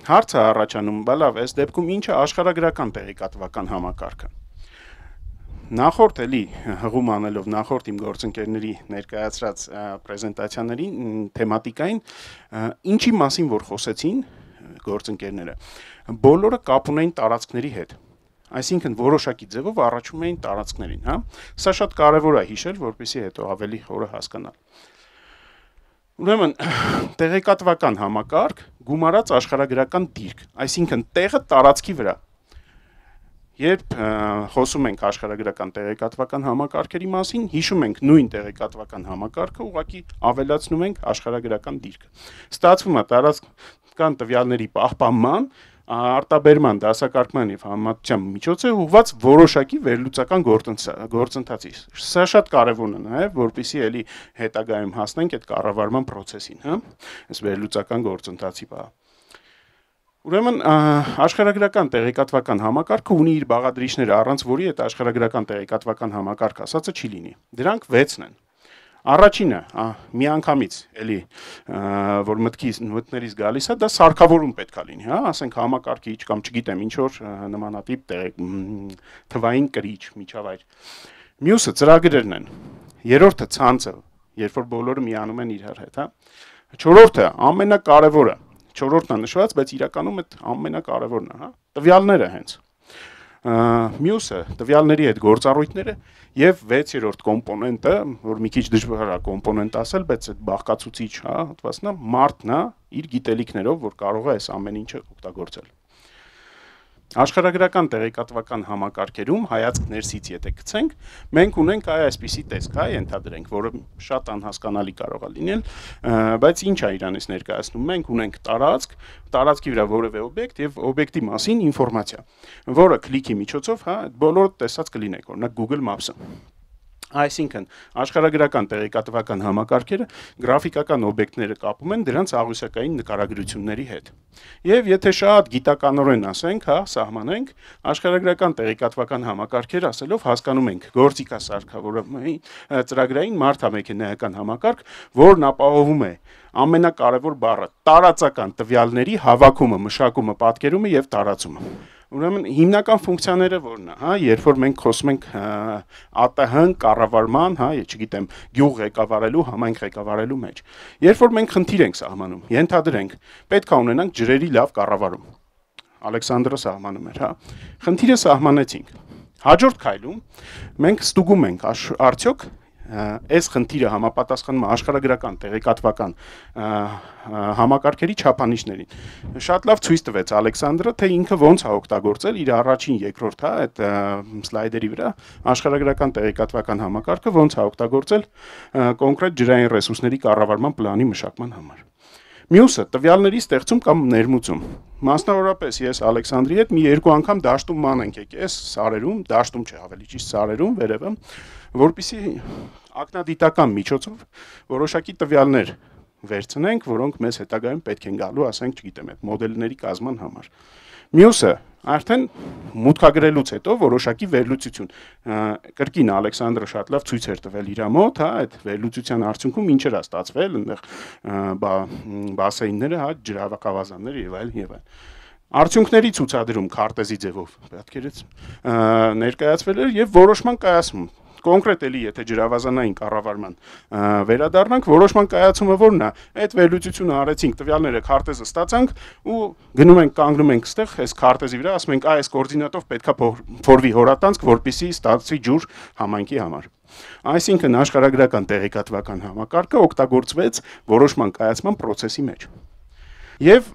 Հարցը առաջանում, բալավ, այս դեպքում ինչ է աշխարհագրական տեղեկատվական համակարգը։ Նախորդ էլի հղում անելով նախորդ իմ գործընկերների ներկայացրած պրեզենտացիաների թեմատիկային ինչի մասին որ խոսեցին գործընկերները, բոլորը կապ ունեին տարածքների հետ։ Այսինքն որոշակի ձևով առաջում էին տարածքներին, հա։ Սա շատ կարևոր է հիշել, որպեսզի հետո ավելի խորը հասկանալ։ Ուրեմն տեղեկատվական համակարգ գումարած աշխարհագրական դիրք, այսինքն տեղը տարածքի վրա։ Երբ խոսում ենք աշխարհագրական տեղեկատվական համակարգերի մասին, հիշում ենք նույն տեղեկատվական համակարգը, ուղղակի ավելացնում ենք աշխարհագրական դիրքը։ Ստացվում է տարածքական տվյալների պահպանման, արտաբերման, դասակարգման եւ համատչության միջոց է ուղղված որոշակի վերլուծական գործընթացի։ Սա շատ կարևոր է նաեւ, որպեսզի էլի հետագայում հասնենք այդ կառավարման process-ին, հա, այս վերլուծական գործընթացի բա։ Ուրեմն աշխարհագրական տեղեկատվական համակարգը ունի իր բաղադրիչները, առանց որի այդ աշխարհագրական տեղեկատվական համակարգ ասածը չի լինի։ Դրանք վեցն են։ Առաջինը, միանգամից, էլի, որ մտքից մտներից գալիս է, դա սարքավորում պետք է լինի, հա, ասենք համակարգիչ կամ չգիտեմ ինչ որ նմանատիպ թվային կրիչ, միջավայր։ Մյուսը ծրագրերն են։ Երրորդը ցանցը, երբ որ բոլորը միանում են իրար հետ, հա։ Չորրորդը ամենակարևորը, չորրորդն է նշված, բայց իրականում այդ ամենակարևորն է, հա, տվյալները հենց։ Մյուսը տվյալների հետ գործառույթները եւ վեցերորդ կոմպոնենտը, որ մի քիչ դժվար է կոմպոնենտ ասել, բայց այդ բաղկացուցիչ, հա, հատվածն է, մարդն է իր գիտելիքներով, որ կարող է այս ամեն ինչը օգտագործել։ Աշխարհագրական տեղեկատվական համակարգերում հայացք ներսից եթե գցենք, մենք ունենք այ այսպիսի տեսք, հա, ենթադրենք, որը շատ անհասկանալի կարող է լինել, բայց ինչ է իրանից ներկայացնում։ Մենք ունենք տարածք, տարածքի վրա որևէ օբյեկտ եւ օբյեկտի մասին ինֆորմացիա, որը քլիքի միջոցով, հա, բոլորը տեսած կլինեք, օրինակ Google Maps-ը։ Այսինքն աշխարհագրական տեղեկատվական համակարգերը գրաֆիկական օբյեկտները կապում են դրանց աղյուսակային նկարագրությունների հետ։ Եվ եթե շատ գիտականորեն ասենք, հա, սահմանենք, աշխարհագրական տեղեկատվական համակարգեր ասելով հասկանում ենք գործիքասարքավորումային ծրագրային մարդամեքենայական համակարգ, որն ապահովում է ամենակարևոր բառը տարածական տվյալների հավաքումը, մշակումը, պատկերումը եւ տարածումը։ Ուրեմն հիմնական ֆունկցիաները որն է, հա, երբ որ մենք խոսում ենք ԱՏՀ կառավարման, հա, չգիտեմ, գյուղ ղեկավարելու, համայնք ղեկավարելու մեջ։ Երբ որ մենք խնդիր ենք սահմանում, ենթադրենք, պետք է ունենանք ջրերի լավ կառավարում։ Ալեքսանդրը սահմանում էր, հա։ Խնդիրը սահմանեցինք։ Հաջորդ քայլում մենք ստուգում ենք արդյոք այս խնդիրը համապատասխանում աշխարհագրական տեղեկատվական համակարգերի չափանիշներին։ Շատ լավ ցույց տվեց Ալեքսանդրը, թե ինքը ոնց է օգտագործել իր առաջին, երկրորդ, հա, այդ սլայդերի վրա աշխարհագրական տեղեկատվական համակարգը ոնց է օգտագործել կոնկրետ ջրային ռեսուրսների կառավարման պլանի մշակման համար։ Մյուսը տվյալների ստեղծում կամ ներմուծում։ Մասնավորապես ես Ալեքսանդրի հետ մի երկու անգամ դաշտում ման ենք եկես սարերում, դաշտում չէ, ավելի ճիշտ սարերում, վերևը, որպեսզի ակնադիտական միջոցով որոշակի տվյալներ վերցնենք, որոնք մեզ հետագայում պետք են գալու, ասենք, չգիտեմ, այդ մոդելների կազման համար։ Մյուսը արդեն մուտքագրելուց հետո որոշակի վերլուծություն։ Կրկին Ալեքսանդրը շատ լավ ցույց էր տվել իր մոտ, հա, այդ վերլուծության արդյունքում ինչ էր ստացվել, այնտեղ բասեյնները, հա, ջրավակավազանները եւ այլն եւ այլն։ Արդյունքների ցուցադրում քարտեզի ձևով պատկերից ներկայացվել էր եւ որոշման կայացում։ Կոնկրետ էլի եթե ջրավազանային կառավարման վերադառնանք, որոշման կայացումը որն է, այդ վերլուծությունը արեցինք, տվյալները քարտեզը ստացանք ու գնում ենք կանգնում ենք այստեղ, այս քարտեզի վրա ասում ենք, այս կոորդինատով պետքա փորվի հորատանցք, որպեսզի ստացվի ջուր համայնքի համար։ Այսինքն աշխարհագրական տեղեկատվական համակարգը օգտագործվեց որոշման կայացման process-ի մեջ։ Եվ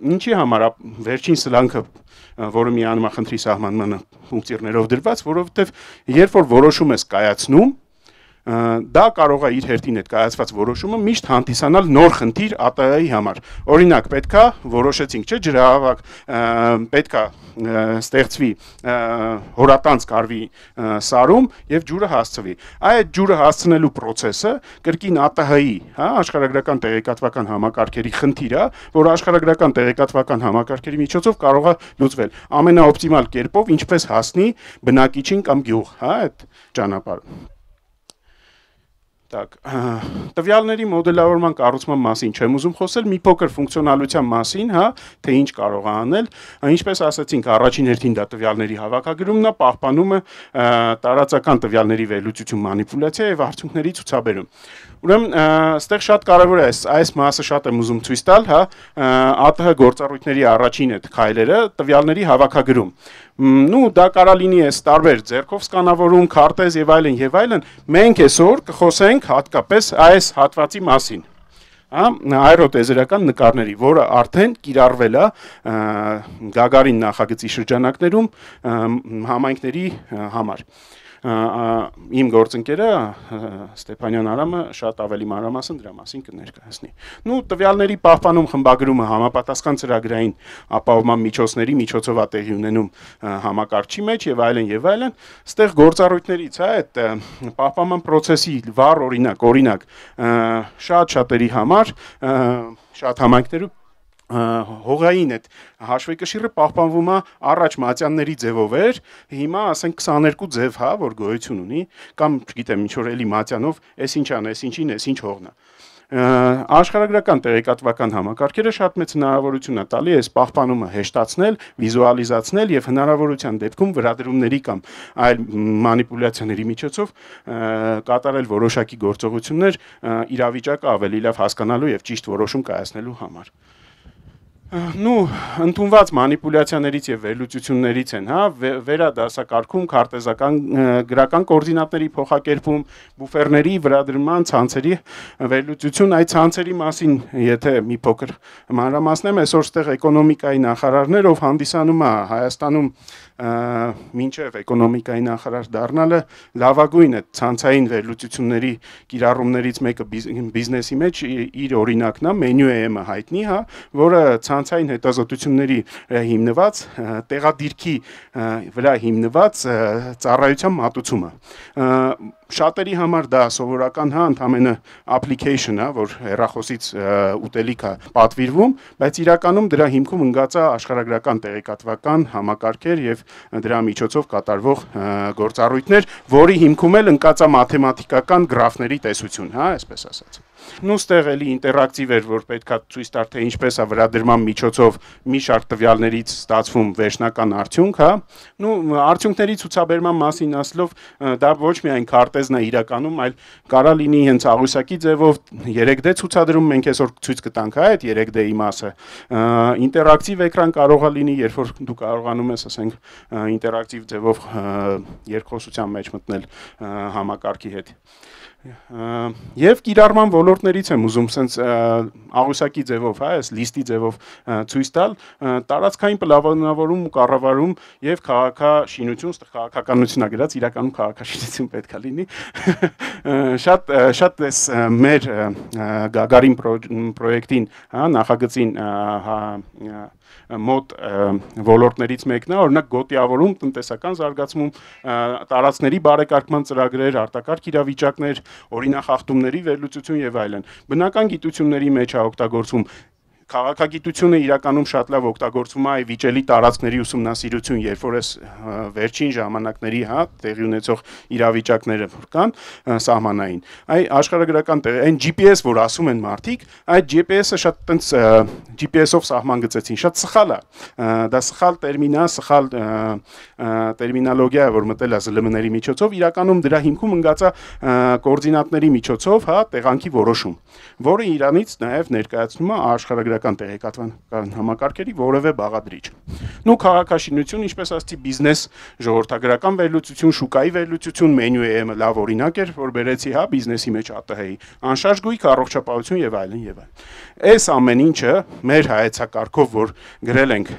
ինչի համար վերջին սլանքը, որը միանում է խնդրի սահմանմանը ֆունկցիաներով դրված, որովհետև երբ որ որոշում ես կայացնում, դա կարող է իր հերթին այդ կայացված որոշումը միշտ հանդիսանալ նոր խնդիր ԱՏՀ-ի համար։ Օրինակ, պետքա որոշեցինք, չէ, ջրահավաք պետքա ստեղծվի հորատանց կարվի սարում եւ ջուրը հասցվի։ Այդ ջուրը հասցնելու process-ը կրկին ԱՏՀ-ի, հա, աշխարհագրական տեղեկատվական համակարգերի խնդիր է, որ աշխարհագրական տեղեկատվական համակարգերի միջոցով կարող է լուծվել ամենաօպտիմալ կերպով, ինչպես հասնի բնակիչին կամ գյուղ, հա, այդ ճանապարհը։ Так, տվյալների մոդելավորման կառուցման մասին չեմ ուզում խոսել, մի փոքր ֆունկցիոնալության մասին, հա, թե ինչ կարող է անել, ինչպես ասացինք, առաջին հերթին դա տվյալների հավաքագրումն է, պահպանումը, տարածական տվյալների վերլուծություն, մանիպուլյացիա եւ արդյունքների ցուցաբերում։ Ուրեմն, այստեղ շատ կարևոր է, այս մասը շատ եմ ուզում ցույց տալ, հա, ԱՏՀ գործառույթների առաջին այդ քայլերը տվյալների հավաքագրում։ Նու դա կարա լինի այս տարբեր ձեռքով սկանավորում, քարտեզ եւ այլն եւ այլն, մենք այսօր կխոսենք հատկապես այս հատվածի մասին։ Հա, աերոտեզերական նկարների, որը արդեն կիրառվել է Գագարին նախագծի շրջանակներում համայնքների համար։ Իմ գործընկերը Ստեփանյան Արամը շատ ավելի մանրամասն դրա մասին կներկայացնի։ Նու տվյալների պահպանում խմբագրումը համապատասխան ծրագրային ապահովման միջոցների միջոցով է տեղի ունենում համակարգչի մեջ եւ այլն եւ այլն, այստեղ գործառույթներից, հա, այդ պահպանման process-ի վառ օրինակ, օրինակ շատ շատերի համար, շատ համայնքներում հողային այդ հաշվեկշիռը պահպանվում է առաջ մատյանների ձևով էր, հիմա ասենք քսաներկու ձև, հա, որ գոյություն ունի, կամ չգիտեմ ինչ որ էլի մատյանով, էս ինչան, էս ինչին, էս ինչ հողն է։ Աշխարհագրական տեղեկատվական համակարգերը շատ մեծ հնարավորություն է տալի այս պահպանումը հեշտացնել, վիզուալիզացնել եւ հնարավորության դեպքում վրադրումների կամ այլ մանիպուլյացիաների միջոցով կատարել որոշակի գործողություններ իրավիճակը ավելի լավ հասկանալու եւ ճիշտ որոշում կայացնելու համար։ Նու ընդունված մանիպուլյացիաներից եւ վերլուծություններից են, հա, վերադասակարգում, քարտեզական գրական կոորդինատների փոխակերպում, բուֆերների վրադրման, ցանցերի վերլուծություն, այդ ցանցերի մասին, եթե մի փոքր մանրամասնեմ, այսօր ստեղ էկոնոմիկայի նախարարներ, ով հանդիսանում է Հայաստանում մինչև էկոնոմիկայի նախարար դառնալը լավագույն է ցանցային վերլուծությունների կիրառումներից մեկը բիզնեսի մեջ իր օրինակն է, մենյու էմ-ը հայտնի, հա, որը ցանցային հետազոտությունների հիմնված, տեղադիրքի վրա հիմնված ծառայության մատուցումը։ Շատերի համար դա սովորական, հա, ընդամենը application է, որ հեռախոսից ուտելիք է պատվիրվում, բայց իրականում դրա հիմքում ընկած է աշխարհագրական տեղեկատվական համակարգեր եւ դրա միջոցով կատարվող գործառույթներ, որի հիմքում էլ ընկած է մաթեմատիկական գրաֆների տեսություն, հա, այսպես ասած։ Նու ստեղ էլի ինտերակտիվ էր, որ պետքա ցույց տար, թե ինչպես է վրադրման միջոցով մի շարք տվյալներից ստացվում վերջնական արդյունք, հա։ Նու արդյունքների ցուցաբերման մասին ասելով, դա ոչ միայն քարտեզն է իրականում, այլ կարա լինի հենց աղյուսակի ձևով երեք դե ցուցադրում, մենք այսօր ցույց կտանք, հա, այդ երեք դե-ի մասը։ Ինտերակտիվ էկրան կարող է լինի, երբ որ դու կարողանում ես, ասենք, ինտերակտիվ ձևով երկխոսության մեջ մտնել համակարգի հետ։ Եվ կիրառման ոլորտներից եմ ուզում սենց աղյուսակի ձևով, հա, այս լիստի ձևով ցույց տալ, տարածքային պլանավորում ու կառավարում եւ քաղաքաշինություն, ստեղ քաղաքականությունն է գրած, իրականում քաղաքաշինություն պետք է լինի։ Շատ շատ էս մեր Գագարին պրոյեկտին, հա, նախագծին մոտ ոլորտներից մեկն է, օրինակ գոտիավորում, տնտեսական զարգացում, տարածքների բարեկարգման ծրագրեր, արտակարգ իրավիճակներ, օրինախախտումների վերլուծություն եւ այլն։ Բնական գիտությունների մեջ է օգտագործվում Քաղաքագիտությունը իրականում շատ լավ օգտագործվում է վիճելի տարածքների ուսումնասիրություն, երբ որ այս վերջին ժամանակների, հա, տեղի ունեցող իրավիճակները կան սահմանային։ Այ աշխարհագրական տեղ, այն G P S, որ ասում են մարդիկ, այդ G P S-ը շատ տենց G P S-ով սահման գծեցին, շատ սխալ է։ Դա սխալ տերմին է, սխալ տերմինոլոգիա է, որ մտել է Զ L M-ների միջոցով, իրականում դրա հիմքում ընկած է կոորդինատների միջոցով, հա, տեղանքի որոշում, որը իրանից նաև ներկայացնում է աշխարհագրական աշխարհագրական տեղեկատվական համակարգերի որևէ բաղադրիչ։ Նու քաղաքաշինություն, ինչպես ասացի, բիզնես, ժողովրդագրական վերլուծություն, շուկայի վերլուծություն, մենյու է լավ օրինակ էր, որ բերեցի, հա, բիզնեսի մեջ ԱՏՀ-ի, անշարժ գույք, առողջապահություն եւ այլն եւ այլն։ Այս ամեն ինչը մեր հայեցակարգով, որ գրել ենք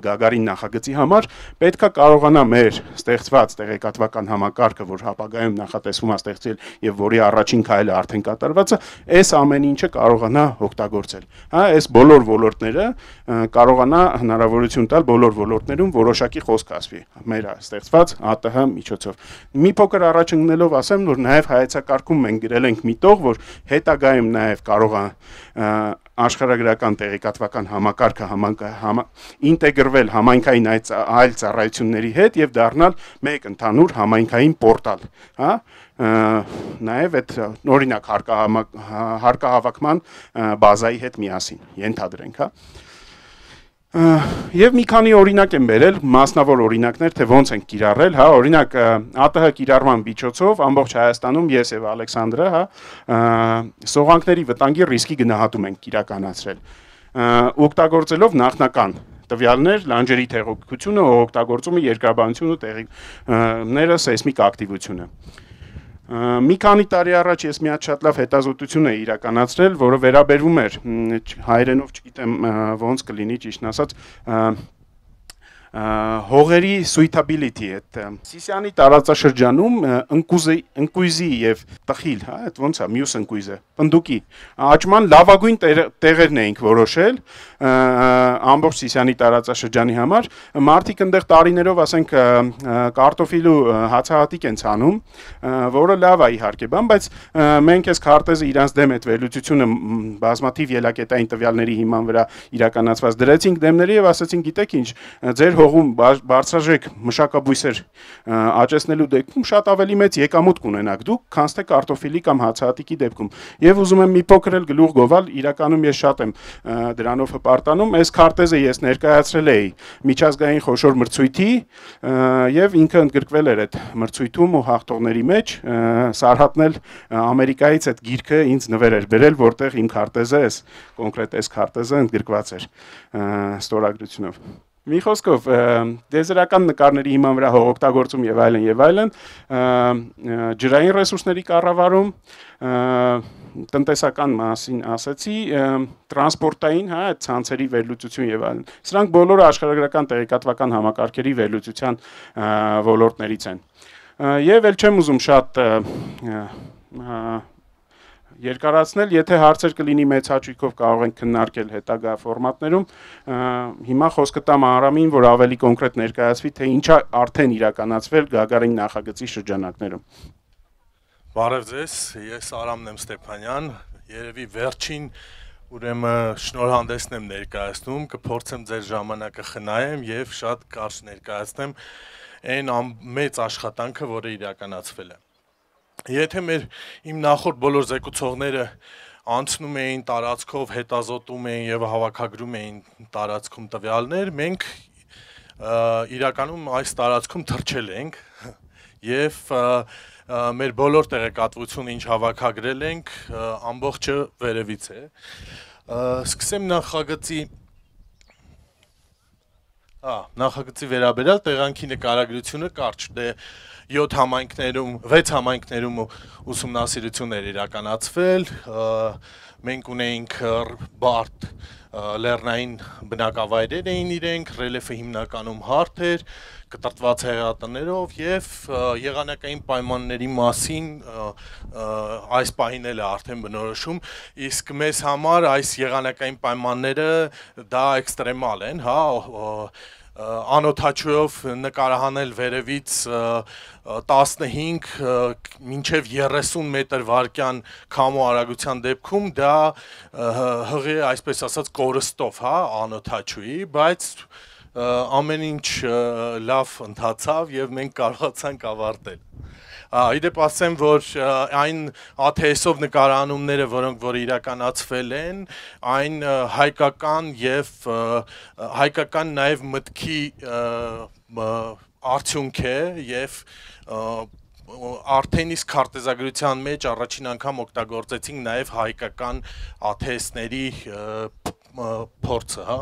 Գագարին նախագծի համար, պետքա կարողանա մեր ստեղծված տեղեկատվական համակարգը, որ հապագայում նախատեսվում է ստեղծել եւ որի առաջին քայլը արդեն կատարված է, այս ամեն ինչը կարողանա օգտագործել։ Հա, այս բոլոր ոլորտները կարողանա հնարավորություն տալ բոլոր ոլորտներում որոշակի խոսք ասվի մեր ստեղծված ԱՏՀ միջոցով։ Մի փոքր առաջ ընկնելով ասեմ, որ նաեւ հայեցակարգում մենք գրել ենք մի տող, որ հետագայում նաեւ կարող է աշխարհագրական տեղեկատվական համակարգը համա ինտեգրվել համայնքային այլ ծառայությունների հետ եւ դառնալ մեկ ընդհանուր համայնքային պորտալ, հա, նաեւ այդ օրինակ հարկահավաքման բազայի հետ միասին ենթադրենք, հա։ Եվ մի քանի օրինակ եմ բերել, մասնավոր օրինակներ, թե ոնց ենք կիրառել, հա, օրինակ ԱՏՀ կիրառման միջոցով ամբողջ Հայաստանում ես եւ Ալեքսանդրը, հա, սողանքների վտանգի ռիսկի գնահատում ենք իրականացրել, օգտագործելով նախնական տվյալներ, լանջերի տեղեկությունը, օգտագործումը երկրաբանությունը, տեղիքները, սեյսմիկ ակտիվությունը։ Մի քանի տարի առաջ ես մի հատ շատ լավ հետազոտություն էի իրականացրել, որը վերաբերվում էր հայերենով չգիտեմ ոնց կլինի ճիշտն ասած հողերի suitability այդ Սիսիանի տարածաշրջանում ընկույզի եւ տխիլ, հա, այդ ոնց է մյուս ընկույզը, պնդուկի աճման լավագույն տեղերն էինք որոշել ամբողջ Սիսիանի տարածաշրջանի համար, մարդիկ այնտեղ տարիներով, ասենք, կարտոֆիլու հացահատիկ են ցանում, որը լավ է իհարկե, բան, բայց մենք այս քարտեզը իրանց դեմ այդ վերլուծությունը բազմաթիվ ելակետային տվյալների հիման վրա իրականացված դրեցինք դեմների եւ ասացին, գիտեք ինչ, ձեր հողում բարձրաժեք մշակաբույսեր աճեցնելու դեպքում շատ ավելի մեծ եկամուտ կունենաք դուք, քան թե կարտոֆիլի կամ հացահատիկի դեպքում։ Եվ ուզում եմ մի փոքր էլ գլուխ գովալ, իրականում ես շատ եմ դրանով հպարտանում, այս քարտեզը ես ներկայացրել էի միջազգային խոշոր մրցույթի եւ ինքը ընդգրկվել էր այդ մրցույթում ու հաղթողների մեջ, Սարհատն էլ Ամերիկայից այդ գիրքը ինձ նվեր էր բերել, որտեղ իմ քարտեզը, այս կոնկրետ այս քարտեզը ընդգրկված էր ստորագրությունով։ Մի խոսքով դեզերական նկարների հիման վրա հողօգտագործում եւ այլն եւ այլն, ջրային ռեսուրսների կառավարում, տնտեսական մասին ասացի, տրանսպորտային, հա, այդ ցանցերի վերլուծություն եւ այլն։ Սրանք բոլորը աշխարհագրական տեղեկատվական համակարգերի վերլուծության ոլորտներից են։ Եվ ել չեմ ուզում շատ երկարացնել, եթե հարցեր կլինի մեծ հաճույքով կարող ենք քննարկել հետագա ֆորմատներում, հիմա խոսքը տամ Արամին, որ ավելի կոնկրետ ներկայացվի, թե ինչա արդեն իրականացվել Գագարին նախագծի շրջանակներում։ Բարև ձեզ, ես Արամն եմ Ստեփանյան, երևի վերջին ուրեմն շնորհանդեսն եմ ներկայացնում, կփորձեմ ձեր ժամանակը խնայեմ եւ շատ կարճ ներկայացնեմ այն մեծ աշխատանքը, որը իրականացվել է։ Եթե մեր իմ նախորդ բոլոր զեկուցողները անցնում էին տարածքով, հետազոտում էին եւ հավաքագրում էին տարածքում տվյալներ, մենք իրականում այս տարածքում թռչել ենք եւ մեր բոլոր տեղեկատվությունը, ինչ հավաքագրել ենք, ամբողջը վերևից է։ Սկսեմ նախագծի Ահա, նախագծի վերաբերյալ տեղանքի նկարագրությունը կարճ, դե յոթ համայնքներում, վեց համայնքներում ուսումնասիրություններ իրականացվել, մենք ունեինք բարդ լեռնային բնակավայրեր էին իրենք, ռելիեֆը հիմնականում հարթ էր, կտրտված հեղատներով եւ եղանակային պայմանների մասին այս պահին էլ է արդեն բնորոշում, իսկ մեզ համար այս եղանակային պայմանները դա էքստրեմալ են, հա, անօթաչուով նկարահանել վերևից տասնհինգ մինչև երեսուն մետր վարկյան քամու արագության դեպքում դա հղի այսպես ասած կորստով, հա, անօթաչուի, բայց ամեն ինչ լավ ընթացավ եւ մենք կարողացանք ավարտել։ Իդեպ ասեմ, որ այն A T S-ով նկարանումները, որոնք որ իրականացվել են, այն հայկական եւ հայկական նաեւ մտքի արդյունք է եւ արդեն իսկ քարտեզագրության մեջ առաջին անգամ օգտագործեցինք նաեւ հայկական A T S-ների փորձը, հա։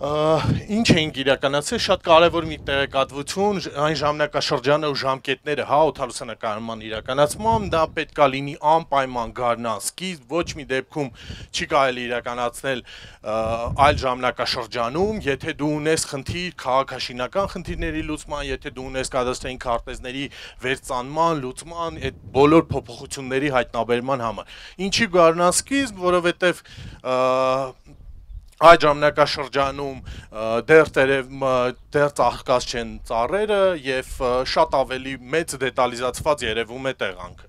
Ինչ էինք իրականացել, շատ կարևոր մի տեղեկատվություն, այն ժամանակաշրջանը ու ժամկետները, հա, օդալուսանկարման իրականացման, դա պետք է լինի անպայման գարնան սկիզբ, ոչ մի դեպքում չի կարելի իրականացնել այլ ժամանակաշրջանում, եթե դու ունես խնդիր քաղաքաշինական խնդիրների լուծման, եթե դու ունես կադաստրային քարտեզների վերծանման, լուծման, այդ բոլոր փոփոխությունների հայտնաբերման համար։ Ինչի գարնան սկիզբ, որովհետև այդ ժամանակաշրջանում դեռ դեռ ծաղկած չեն ծառերը եւ շատ ավելի մեծ դետալիզացված երևում է տեղանքը։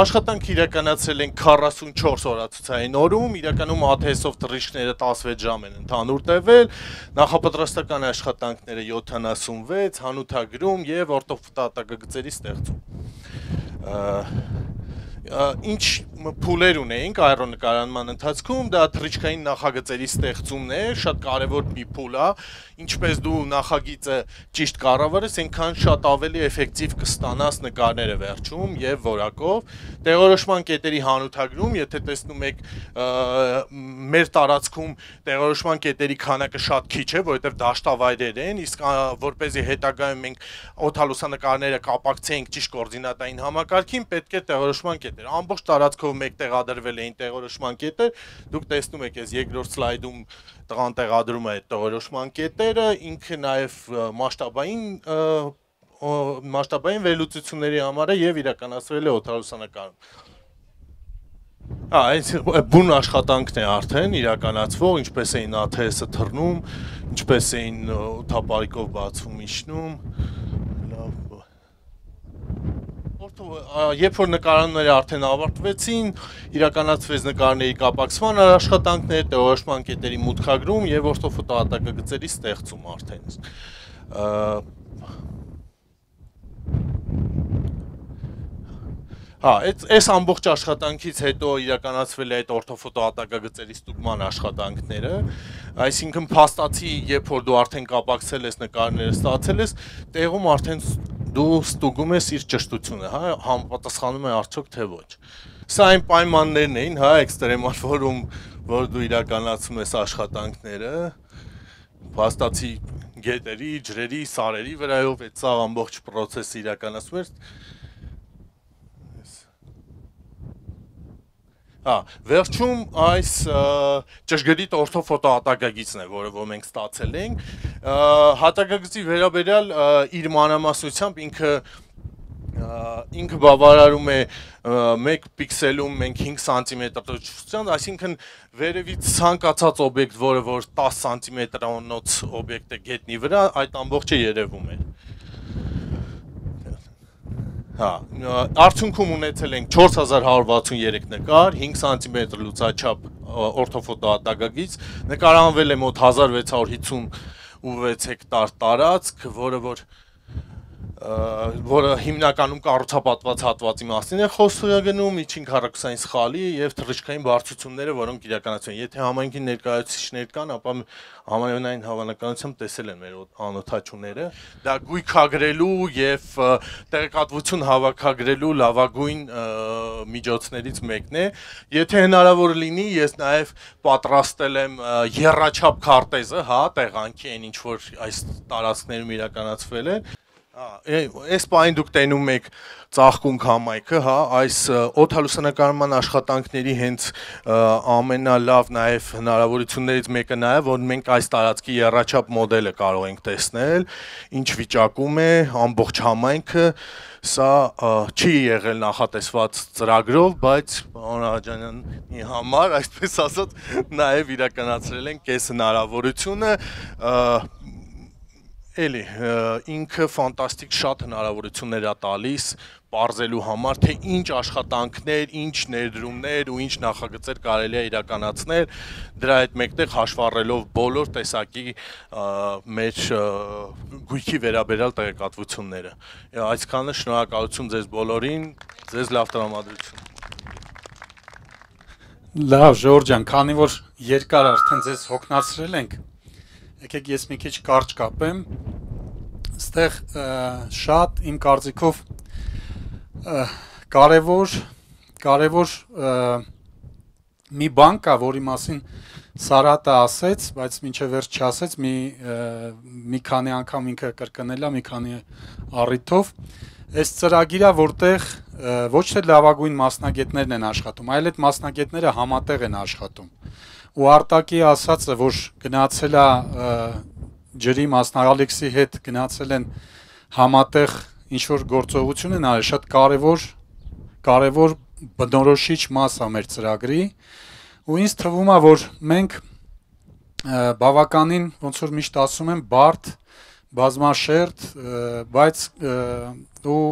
Աշխատանք իրականացել են քառասունչորս օրացուցային օրում, իրականում ա թե էս-ով թռիչքները տասնվեց ժամ են ընդհանուր տևել, նախապատրաստական աշխատանքները յոթանասունվեց, հանութագրում եւ օրտոֆոտոհատակագծերի ստեղծում։ Ինչ փուլեր ունեինք աերոնկարանման ընթացքում, դա թռիչքային նախագծերի ստեղծումն է, շատ կարևոր մի փուլ է, ինչպես դու նախագիծը ճիշտ կառավարես, այնքան շատ ավելի էֆեկտիվ կստանաս նկարները վերջում եւ որակով։ Տեղորոշման կետերի հանութագրում, եթե տեսնում եք մեր տարածքում տեղորոշման կետերի քանակը շատ քիչ է, որովհետեւ դաշտավայրեր են, իսկ որպեսզի հետագայում մենք օդալուսանկարները կապակցեինք ճիշտ կոորդինատային համակարգին, պետք է տեղորոշման կետ ամբողջ տարածքով մեկ տեղադրվել էին տեղորոշման կետեր, դուք տեսնում եք այս երկրորդ սլայդում տղան տեղադրում է այդ տեղորոշման կետերը, ինքը նաև մասշտաբային մասշտաբային վերլուծությունների համար է եւ իրականացվել է օդալուսանկարում։ Հա, այս բուն աշխատանքն է արդեն իրականացվող, ինչպես էին ա թե էս-ը թռնում, ինչպես էին օդապարիկով բացվում իջնում։ Երբ որ նկարանները արդեն ավարտվեցին, իրականացվեց նկարների կապակցման աշխատանքներ, տեղորոշման կետերի մուտքագրում եւ օրտոֆոտոհատակագծերի ստեղծում արդեն։ Հա, այս ամբողջ աշխատանքից հետո իրականացվել է այդ օրտոֆոտոհատակագծերի ստուգման աշխատանքները, այսինքն փաստացի, երբ որ դու արդեն կապակցել ես նկարները ստացել ես, տեղում արդեն դու ստուգում ես իր ճշտությունը, հա, համապատասխանում է արդյոք թե ոչ։ Սա այն պայմաններն էին, հա, էքստրեմալ, որում որ դու իրականացում ես աշխատանքները, փաստացի գետերի, ջրերի, սարերի վրայով այդ սա ամբողջ process-ը իրականացում էր։ Հա, վերջում այս ճշգրիտ օրտոֆոտոհատակագիծն է, որը որ մենք ստացել ենք, հատակագծի վերաբերյալ իր մանրամասնությամբ ինքը ինքը բավարարում է մեկ պիքսելում մենք հինգ սանտիմետր տոկոսությամբ, այսինքն վերևից ցանկացած օբյեկտ, որը որ տասը սանտիմետրանոց օբյեկտ է գետնի վրա, այդ ամբողջը երևում է։ Հա, արդյունքում ունեցել ենք չորս հազար հարյուր վաթսուներեք նկար, հինգ սանտիմետր լուծաչափ օրտոֆոտոհատակագիծ, նկարանվել է մոտ հազար վեց հարյուր հիսունվեց հեկտար տարածք, որը որ որը հիմնականում կառուցապատված հատվածի մասին է խոսքը գնում, միջին քառակուսային սխալի եւ թռիչքային բարձրությունները, որոնք իրականացվում են։ Եթե համայնքի ներկայացուցիչներ կան, ապա համանուն հավանականությամբ տեսել են մեր անօթաչուները։ Դա գույքագրելու եւ տեղեկատվություն հավաքագրելու լավագույն միջոցներից մեկն է։ Եթե հնարավոր լինի, ես նաեւ պատրաստել եմ եռաչափ քարտեզը, հա, տեղանքի այն ինչ որ այս տարածքներում իրականացվել է։ Այս պայն դուք տենում եք ծաղկունք համայնքը, հա, այս օդալուսանկարման աշխատանքների հենց ամենալավ նաև հնարավորություններից մեկը նա է, որ մենք այս տարածքի եռաչափ մոդելը կարող ենք տեսնել, ինչ վիճակում է ամբողջ համայնքը, սա չի եղել նախատեսված ծրագրով, բայց պարոն Աղաջանյանի համար, այսպես ասած, նաև իրականացրել ենք այս հնարավորությունը, Էլի, ինքը ֆանտաստիկ շատ հնարավորություններ է տալիս պարզելու համար, թե ինչ աշխատանքներ, ինչ ներդրումներ ու ինչ նախագծեր կարելի է իրականացնել, դրա հետ մեկտեղ հաշվառելով բոլոր տեսակի մեր գույքի վերաբերյալ տեղեկատվությունները։ Այսքանը շնորհակալություն ձեզ բոլորին, ձեզ լավ տրամադրություն։ Լավ, Ժորժ ջան, քանի որ երկար արդեն ձեզ հոգնածրել ենք, եկեք ես մի քիչ կարճ կապեմ, ստեղ շատ իմ կարծիքով կարևոր, կարևոր մի բան կա, որի մասին Սարհատը ասեց, բայց մինչև վերջ չասեց, մի մի քանի անգամ ինքը կրկնել է, մի քանի առիթով, այս ծրագիրը, որտեղ ոչ թե լավագույն մասնագետներն են աշխատում, այլ այդ մասնագետները համատեղ են աշխատում։ Ու Արտակի ասածը, որ գնացել է ջրի մասնագետի հետ գնացել են համատեղ ինչ-որ գործողություն են արել, շատ կարևոր կարևոր բնորոշիչ մաս է մեր ծրագրի, ու ինձ թվում է, որ մենք բավականին, ոնց որ միշտ ասում եմ, բարդ, բազմաշերտ, բայց ու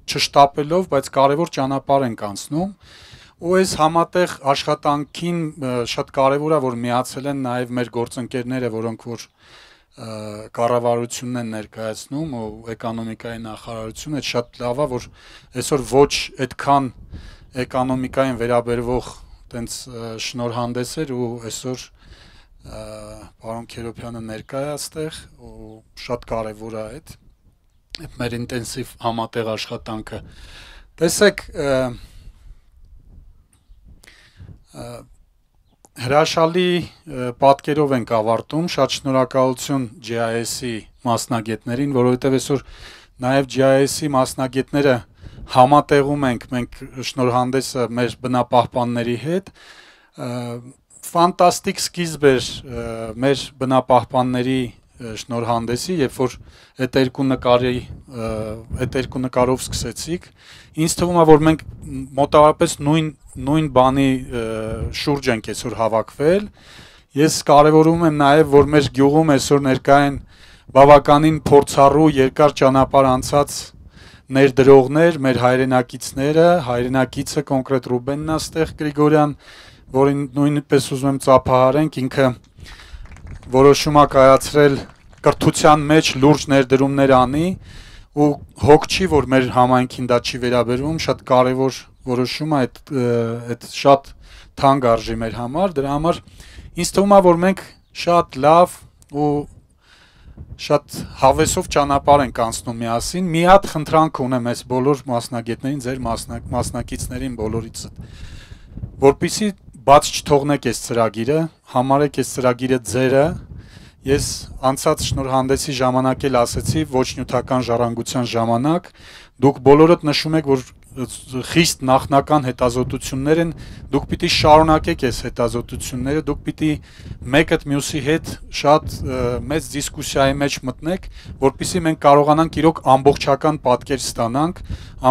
չշտապելով, բայց կարևոր ճանապարհ ենք անցնում, ու այս համատեղ աշխատանքին շատ կարևոր է, որ միացել են նաև մեր գործընկերները, որոնք որ կառավարությունն են ներկայացնում ու էկոնոմիկայի նախարարությունը, շատ լավ է, որ այսօր ոչ այդքան էկոնոմիկային վերաբերվող տենց շնորհանդես էր ու այսօր պարոն Քերոբյանը ներկա է այստեղ ու շատ կարևոր է այդ մեր ինտենսիվ համատեղ աշխատանքը։ Տեսեք, հրաշալի պատկերով ենք ավարտում, շատ շնորհակալություն Ջի Այ Էս-ի մասնագետներին, որովհետև այսօր նաև Ջի Այ Էս-ի մասնագետները համատեղում ենք մենք շնորհանդեսը մեր բնապահպանների հետ, ֆանտաստիկ սկիզբ էր մեր բնապահպանների շնորհանդեսի, երբ որ այդ երկու նկարի այդ երկու նկարով սկսեցիք, ինձ թվում է, որ մենք մոտավորապես նույն նույն բանի շուրջ ենք այսօր հավաքվել, ես կարևորում եմ նաև, որ մեր գյուղում այսօր ներկա են բավականին փորձառու երկար ճանապարհ անցած ներդրողներ, մեր հայրենակիցները, հայրենակիցը կոնկրետ Ռուբենն է ստեղ Գրիգորյան, որին նույնպես ուզում եմ ծափահարենք, ինքը որոշում է կայացրել կրթության մեջ լուրջ ներդրումներ անի ու հոգ չի, որ մեր համայնքին դա չի վերաբերվում, շատ կարևոր որոշում է, այդ այդ շատ թանկ արժի մեր համար, դրա համար ինձ թվում է, որ մենք շատ լավ ու շատ հավեսով ճանապարհ ենք անցնում միասին, մի հատ խնդրանք ունեմ այս բոլոր մասնագետներին, ձեր մասնակիցներին բոլորից, որպեսզի բաց չթողնեք այս ծրագիրը, համարեք այս ծրագիրը ձերը, ես անցած շնորհանդեսի ժամանակ էլ ասեցի, ոչ նյութական ժառանգության ժամանակ, դուք բոլորդ նշում եք, որ խիստ նախնական հետազոտություններ են, դուք պիտի շարունակեք այս հետազոտությունները, դուք պիտի մեկը մյուսի հետ շատ մեծ դիսկուսիայի մեջ մտնեք, որպեսզի մենք կարողանանք իրոք ամբողջական պատկեր ստանանք,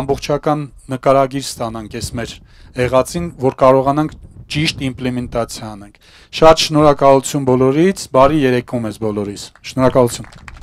ամբողջական նկարագիր ստանանք այս մեր եղածին, որ կարողանանք ճիշտ իմպլեմենտացիա անենք։ Շատ շնորհակալություն բոլորից, բարի երեկո մեզ բոլորիս։ Շնորհակալություն։